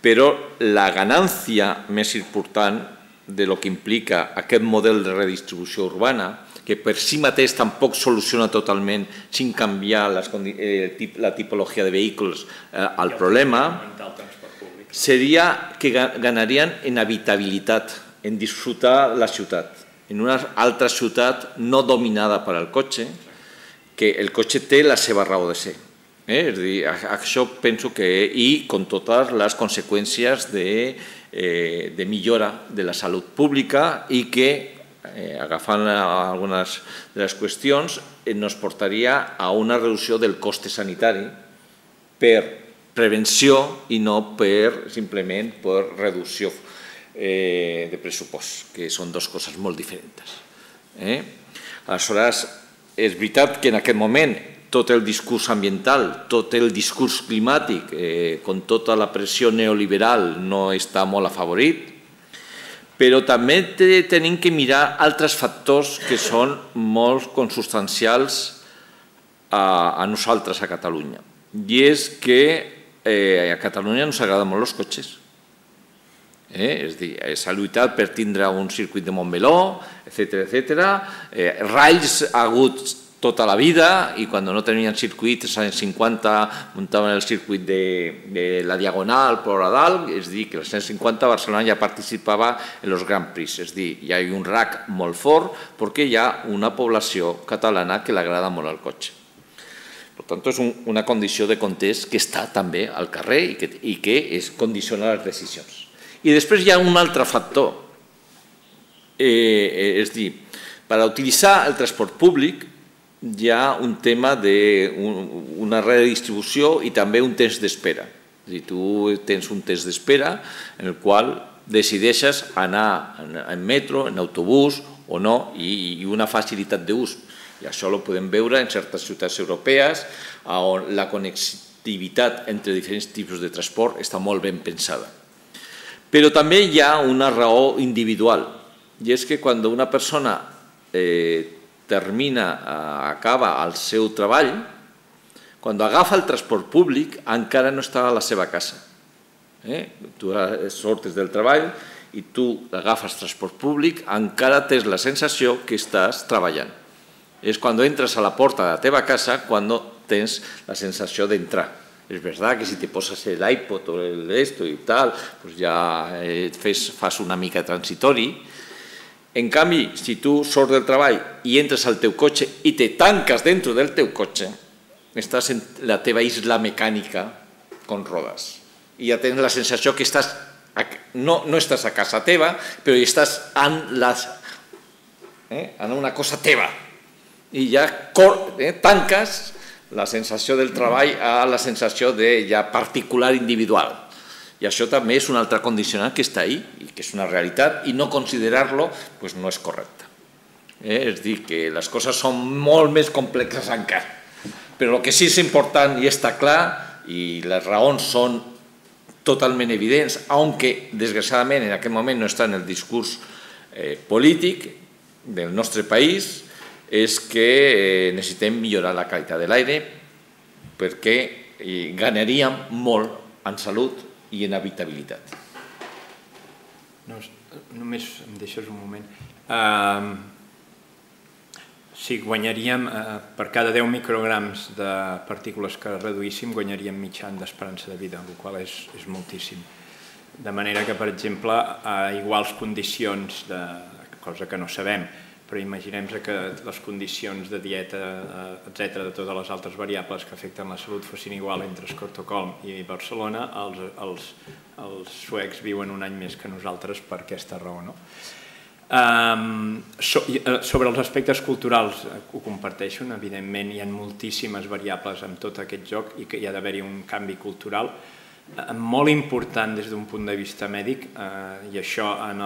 Speaker 3: però la ganància més important de lo que implica aquest model de redistribució urbana, que per si mateix tampoc soluciona totalment sin canviar la tipologia de vehicles al problema, seria que ganarien en habitabilitat, en disfrutar la ciutat, en una altra ciutat no dominada per al cotxe, que el cotxe té la seva raó de ser. És a dir, això penso que, i amb totes les conseqüències de millora de la salut pública i que, agafant algunes de les qüestions, ens portaria a una reducció del cost sanitari per prevenció i no simplement per reducció de pressupost, que són dues coses molt diferents. Aleshores, és veritat que en aquest moment tot el discurs ambiental, tot el discurs climàtic, amb tota la pressió neoliberal, no està molt afavorit, però també tenim que mirar altres factors que són molt consubstancials a nosaltres a Catalunya. I és que a Catalunya ens agraden molt els cotxes. És a dir, s'ha lluitat per tindre un circuit de Montmeló, etc. Ralls ha hagut tota la vida i quan no tenien circuit, als anys 50 muntaven el circuit de la Diagonal per a dalt, és a dir, que als anys 50 Barcelona ja participava en els Grand Prix, és a dir, hi ha un RAC molt fort perquè hi ha una població catalana que l'agrada molt al cotxe. Per tant, és una condició de context que està també al carrer i que condiciona les decisions. I després hi ha un altre factor, és a dir, per utilitzar el transport públic hi ha un tema d'una redistribució i també un temps d'espera. És a dir, tu tens un temps d'espera en el qual decideixes anar en metro, en autobús o no, i una facilitat d'ús. I això ho podem veure en certes ciutats europees on la connectivitat entre diferents tipus de transport està molt ben pensada. Però també hi ha una raó individual, i és que quan una persona acaba el seu treball, quan agafa el transport públic encara no està a la seva casa. Tu sortes del treball i tu agafes transport públic, encara tens la sensació que estàs treballant. És quan entres a la porta de la teva casa quan tens la sensació d'entrar. És veritat que si te poses l'iPod o esto i tal, ja fas una mica transitori. En canvi, si tu surts del treball i entres al teu cotxe i te tanques dentro del teu cotxe, estàs en la teva isla mecànica con rodes. I ja tens la sensació que no estàs a casa teva, però estàs en una cosa teva. I ja tanques la sensació del treball a la sensació de ja particular individual. I això també és un altre condicionant que està ahí, i que és una realitat, i no considerar-lo no és correcte. És dir, que les coses són molt més complexes encara. Però el que sí és important i està clar, i les raons són totalment evidents, aunque desgraciadament en aquest moment no està en el discurs polític del nostre país, és que necessitem millorar la qualitat de l'aire perquè guanyaríem molt en salut i en habitabilitat.
Speaker 2: Només em deixes un moment. Sí, guanyaríem, per cada 10 micrograms de partícules que reduíssim, guanyaríem mig any d'esperança de vida, el qual és moltíssim. De manera que, per exemple, a iguals condicions, cosa que no sabem, però imaginem que les condicions de dieta, etc., de totes les altres variables que afecten la salut fossin igual entre Estocolm i Barcelona, els suecs viuen un any més que nosaltres per aquesta raó. Sobre els aspectes culturals ho comparteixo, evidentment hi ha moltíssimes variables en tot aquest joc i que hi ha d'haver-hi un canvi cultural molt important des d'un punt de vista mèdic, i això en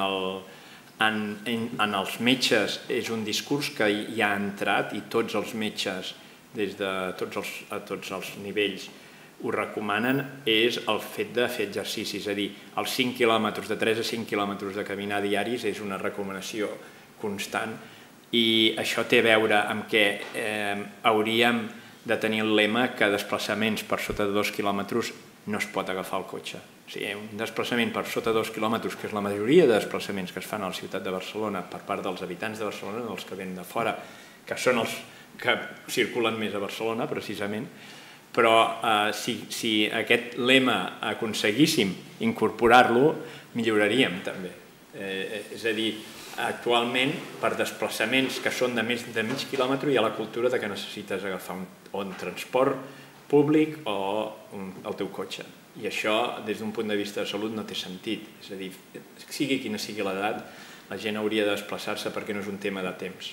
Speaker 2: els metges és un discurs que hi ha entrat i tots els metges a tots els nivells ho recomanen, és el fet de fer exercicis, és a dir, els 5 quilòmetres, de 3 a 5 quilòmetres de caminar diaris és una recomanació constant, i això té a veure amb que hauríem de tenir el lema que desplaçaments per sota de 2 quilòmetres no es pot agafar el cotxe. O sigui, un desplaçament per sota de 2 quilòmetres, que és la majoria de desplaçaments que es fan a la ciutat de Barcelona per part dels habitants de Barcelona, dels que venen de fora, que són els que circulen més a Barcelona, precisament, però si aquest lema aconseguíssim incorporar-lo, milloraríem també. És a dir, actualment, per desplaçaments que són de més de mig quilòmetre, hi ha la cultura que necessites agafar un transport públic o el teu cotxe. I això, des d'un punt de vista de salut, no té sentit. És a dir, sigui quina sigui l'edat, la gent hauria de desplaçar-se perquè no és un tema de temps.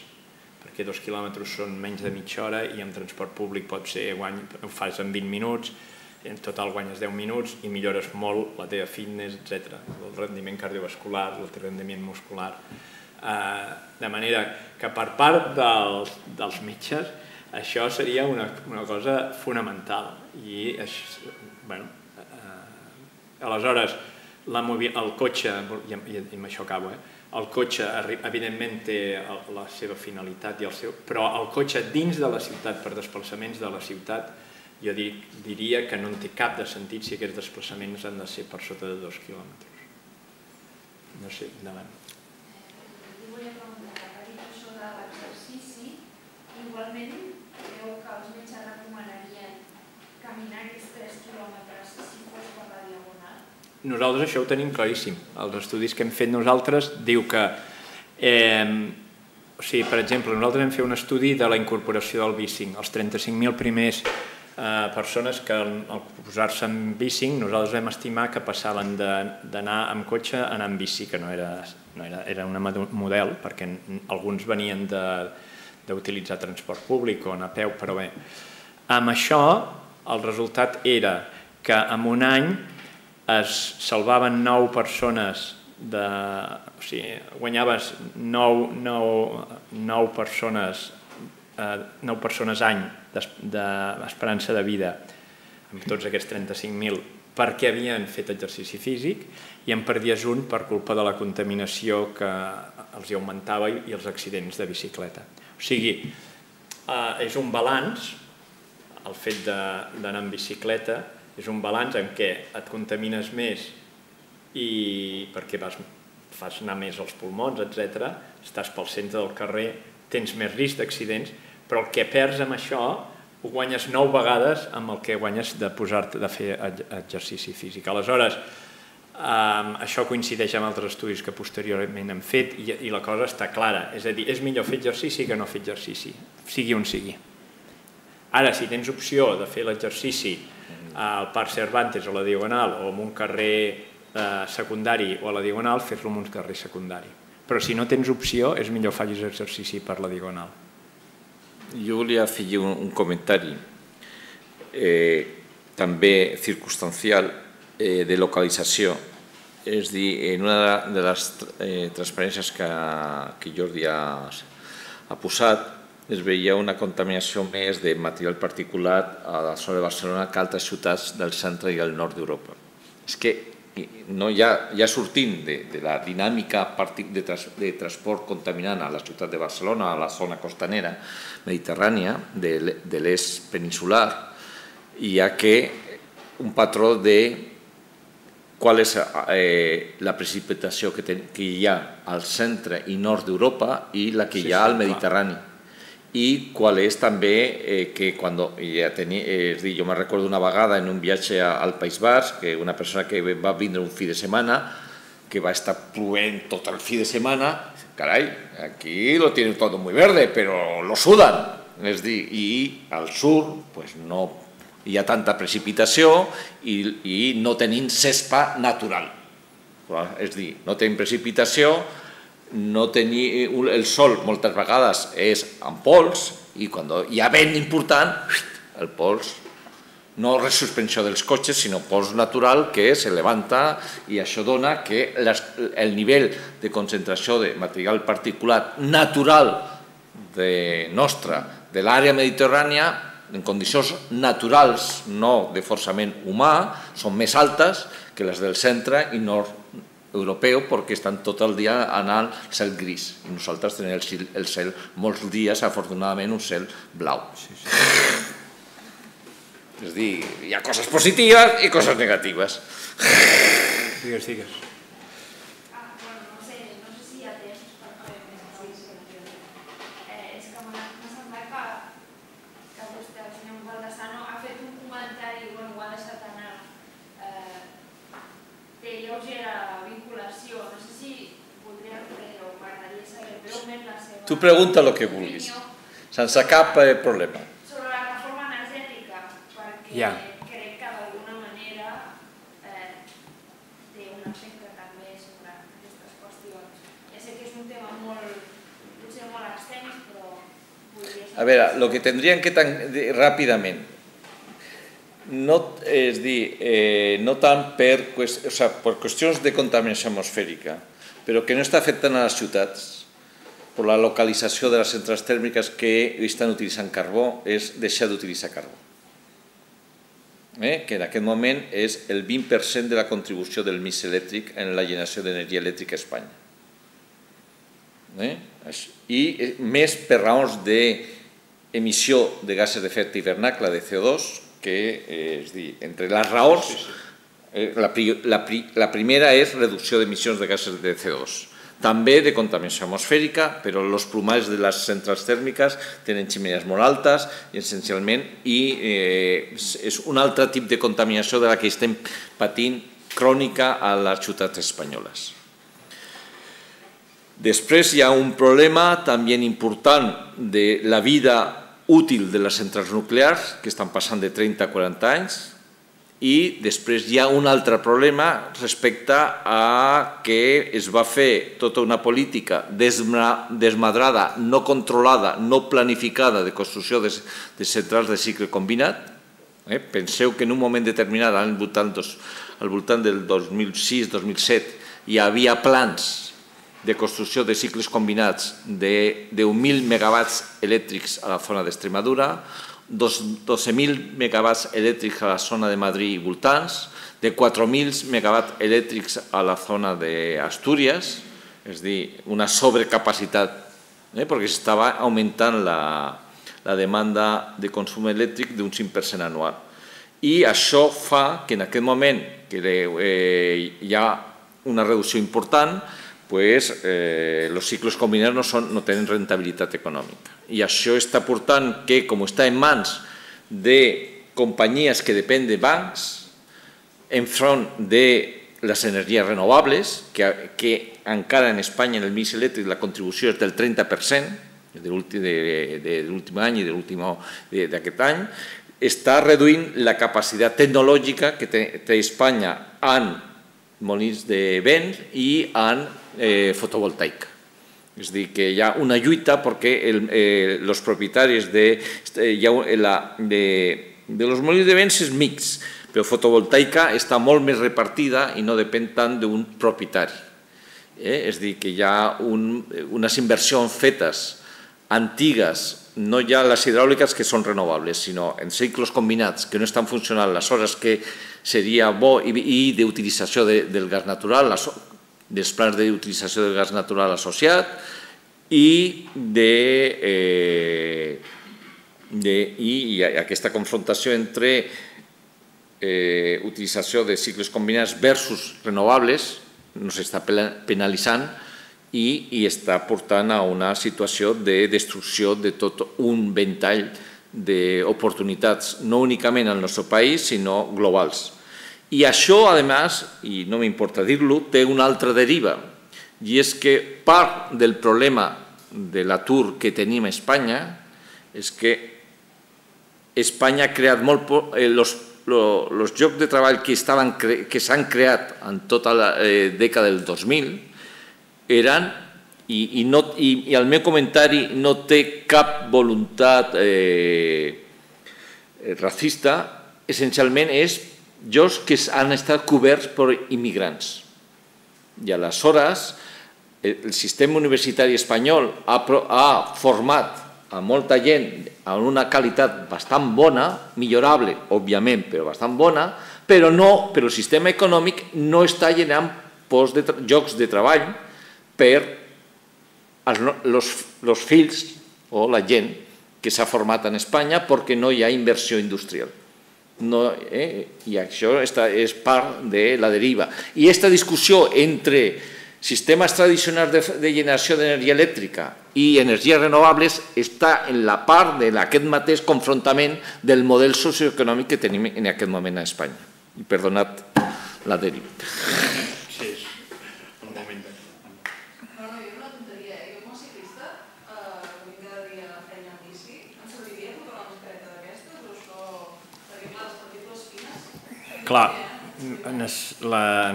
Speaker 2: Perquè 2 quilòmetres són menys de mitja hora i amb transport públic pot ser, ho fas en 20 minuts, en total guanyes 10 minuts i millores molt la teva fitness, etc. El rendiment cardiovascular, el rendiment muscular. De manera que per part dels metges això seria una cosa fonamental. I aleshores el cotxe, i amb això acabo, el cotxe evidentment té la seva finalitat, però el cotxe dins de la ciutat, per desplaçaments de la ciutat, jo diria que no en té cap de sentit si aquests desplaçaments han de ser per sota de 2 quilòmetres. No sé, endavant.
Speaker 6: Jo volia preguntar, ha dit això de l'exercici, igualment creu que els metges recomanarien caminar aquests 3 quilòmetres si fos per la diagonal?
Speaker 2: Nosaltres això ho tenim claríssim. Els estudis que hem fet nosaltres diu que, per exemple, nosaltres hem fet un estudi de la incorporació del bicing. Els 35.000 primers persones que al posar-se en bicing, nosaltres vam estimar que passaven d'anar amb cotxe a anar amb bici, que era un model, perquè alguns venien d'utilitzar transport públic o anar a peu, però bé. Amb això, el resultat era que en un any es salvaven 9 persones, o sigui, guanyaves 9 persones any d'esperança de vida amb tots aquests 35.000 perquè havien fet exercici físic i en perdies un per culpa de la contaminació que els hi augmentava i els accidents de bicicleta. O sigui, és un balanç, el fet d'anar en bicicleta és un balanç en què et contamines més i perquè fas anar més als pulmons, etc. Estàs pel centre del carrer, tens més risc d'accidents, però el que perds amb això ho guanyes 9 vegades amb el que guanyes de posar-te de fer exercici físic. Aleshores, això coincideix amb altres estudis que posteriorment hem fet i la cosa està clara, és a dir, és millor fer exercici que no fer exercici, sigui on sigui. Ara, si tens opció de fer l'exercici al Parc Cervantes o a la Diagonal o en un carrer secundari o a la Diagonal, fer-lo en un carrer secundari. Però si no tens opció, és millor facis exercici per la Diagonal.
Speaker 3: Jo volia afegir un comentari també circumstancial de localització. És a dir, en una de les transparències que Jordi ha posat, es veia una contaminació més de material particulat a la zona de Barcelona que altres ciutats del centre i el nord d'Europa. És que ja sortint de la dinàmica de transport contaminant a la ciutat de Barcelona, a la zona costanera mediterrània de l'est peninsular, hi ha un patró de qual és la precipitació que hi ha al centre i nord d'Europa i la que hi ha al Mediterrani. I qual és també que quan jo me'n recordo una vegada en un viatge al País Basc, que una persona que va vindre un fi de setmana, que va estar plovent tot el fi de setmana, carai, aquí lo tienen todo muy verde, pero lo sudan. És a dir, i al sur no hi ha tanta precipitació i no tenim cespa natural. És a dir, no tenim precipitació, el sol moltes vegades és en pols i quan hi ha vent important, el pols, no resuspensió dels cotxes, sinó pols natural que se levanta i això dona que el nivell de concentració de material particulat natural nostre de l'àrea mediterrània en condicions naturals, no de forçament humà, són més altes que les del centre i nord europeu perquè estan tot el dia anant al cel gris i nosaltres tenim el cel molts dies, afortunadament, un cel blau. És a dir, hi ha coses positives i coses negatives.
Speaker 2: Digues, digues.
Speaker 6: No sé si hi ha temps per fer més explicació. És que m'ha semblat que vostè, el senyor Baldasano, ha fet un comentari, ho ha deixat anar, de lleugera vinculació. No sé si podria fer o m'agradaria saber breument la seva...
Speaker 3: Tu pregunta el que vulguis, sense cap problema.
Speaker 6: Sobre la reforma energètica, perquè crec que d'alguna manera té un efecte també sobre aquestes qüestions. Ja sé que és un tema potser molt extens, però podria ser...
Speaker 3: A veure, el que tindríem que ràpidament, és dir, no tant per qüestions de contaminació atmosfèrica, però que no està afectant a les ciutats per la localització de les centrals tèrmiques que estan utilitzant carbó, és deixar d'utilitzar carbó. Que en aquest moment és el 20% de la contribució del mix elèctric en la generació d'energia elèctrica a Espanya. I més per raons d'emissió de gasos d'efecte hivernacle, de CO2, que, és a dir, entre les raons, la primera és reducció d'emissions de gasos de CO2, també de contaminació atmosfèrica, però els plomats de les centrals tèrmiques tenen xemeneies molt altes, essencialment, i és un altre tipus de contaminació de la que estem patint crònica a les ciutats espanyoles. Després hi ha un problema també important de la vida útil de les centrals nuclears, que estan passant de 30 a 40 anys, i després hi ha un altre problema respecte a que es va fer tota una política desmadrada, no controlada, no planificada de construcció de centrals de cicle combinat. Penseu que en un moment determinat, al voltant del 2006-2007, hi havia plans de construcció de cicles combinats de 10.000 megawatts elèctrics a la zona d'Extremadura, 12.000 megawatts elèctrics a la zona de Madrid i voltants, de 4.000 megawatts elèctrics a la zona d'Astúries, és a dir, una sobrecapacitat, perquè s'estava augmentant la demanda de consum elèctric d'un 5% anual. I això fa que en aquest moment que hi ha una reducció important, els ciclos combinats no tenen rentabilitat econòmica. I això està portant que, com està en mans de companyies que depenen de bancs, enfront de les energies renovables, que encara en Espanya en el mix elèctric la contribució és del 30% de l'últim any i d'aquest any, està reduint la capacitat tecnològica que té Espanya en molins de vent i en fotovoltaica. És a dir, que hi ha una lluita perquè els propietaris de los molins de vent és mix, però fotovoltaica està molt més repartida i no depèn tant d'un propietari. És a dir, que hi ha unes inversions fetes antigues, no ja les hidràuliques que són renovables, sinó en cicles combinats que no estan funcionant les hores que seria bo i d'utilització del gas natural, dels plans d'utilització del gas natural associat i aquesta confrontació entre utilització de cicles combinats versus renovables no s'està penalitzant i està portant a una situació de destrucció de tot un ventall d'oportunitats, no únicament al nostre país, sinó globals. I això, a més, i no m'importa dir-lo, té una altra deriva, i és que part del problema de l'atur que tenim a Espanya és que Espanya ha creat molt poc, els llocs de treball que s'han creat en tota la dècada del 2000 eren, i el meu comentari no té cap voluntat racista, essencialment és llocs que han estat coberts per immigrants. I aleshores el sistema universitari espanyol ha format a molta gent amb una qualitat bastant bona, millorable, òbviament, però bastant bona, però el sistema econòmic no està generant llocs de treball per els fills o la gent que s'ha format en Espanya perquè no hi ha inversió industrial. I això és part de la deriva. I aquesta discussió entre sistemes tradicionals de generació d'energia elèctrica i energies renovables està en la part d'aquest mateix confrontament del model socioeconòmic que tenim en aquest moment a Espanya. I perdonat la deriva.
Speaker 2: Sí, un moment.
Speaker 6: No, jo una tonteria. Jo com a ciclista, que vinc cada dia a feina en bici, em serviria portar una mascareta d'aquestes o això... Perquè clar, les partícules fines...
Speaker 2: Clar,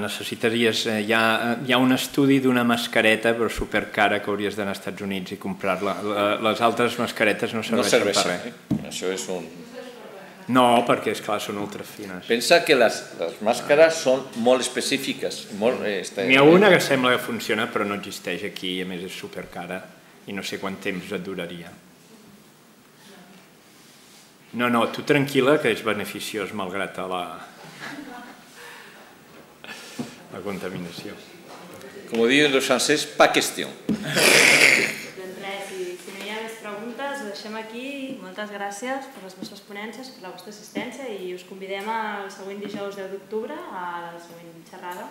Speaker 2: necessitaries... Hi ha un estudi d'una mascareta però supercara que hauries d'anar als Estats Units i comprar-la. Les altres mascaretes no serveixen per res.
Speaker 3: Això és un...
Speaker 2: No, perquè, esclar, són ultrafines.
Speaker 3: Pensa que les màscares són molt específiques.
Speaker 2: N'hi ha una que sembla que funciona però no existeix aquí i a més és supercara i no sé quant temps et duraria. No, tu tranquil·la que és beneficiós malgrat la contaminació.
Speaker 3: Com diuen els francesos, pas question.
Speaker 4: Doncs res, si no hi ha més preguntes, ho deixem aquí. Moltes gràcies per les vostres ponències, per la vostra assistència i us convidem al següent dijous 10 d'octubre a la següent xerrada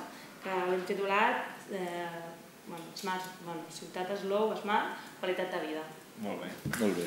Speaker 4: que l'hem titulat Ciutat Slow, Smart, Qualitat de Vida.
Speaker 2: Molt bé.
Speaker 3: Molt bé.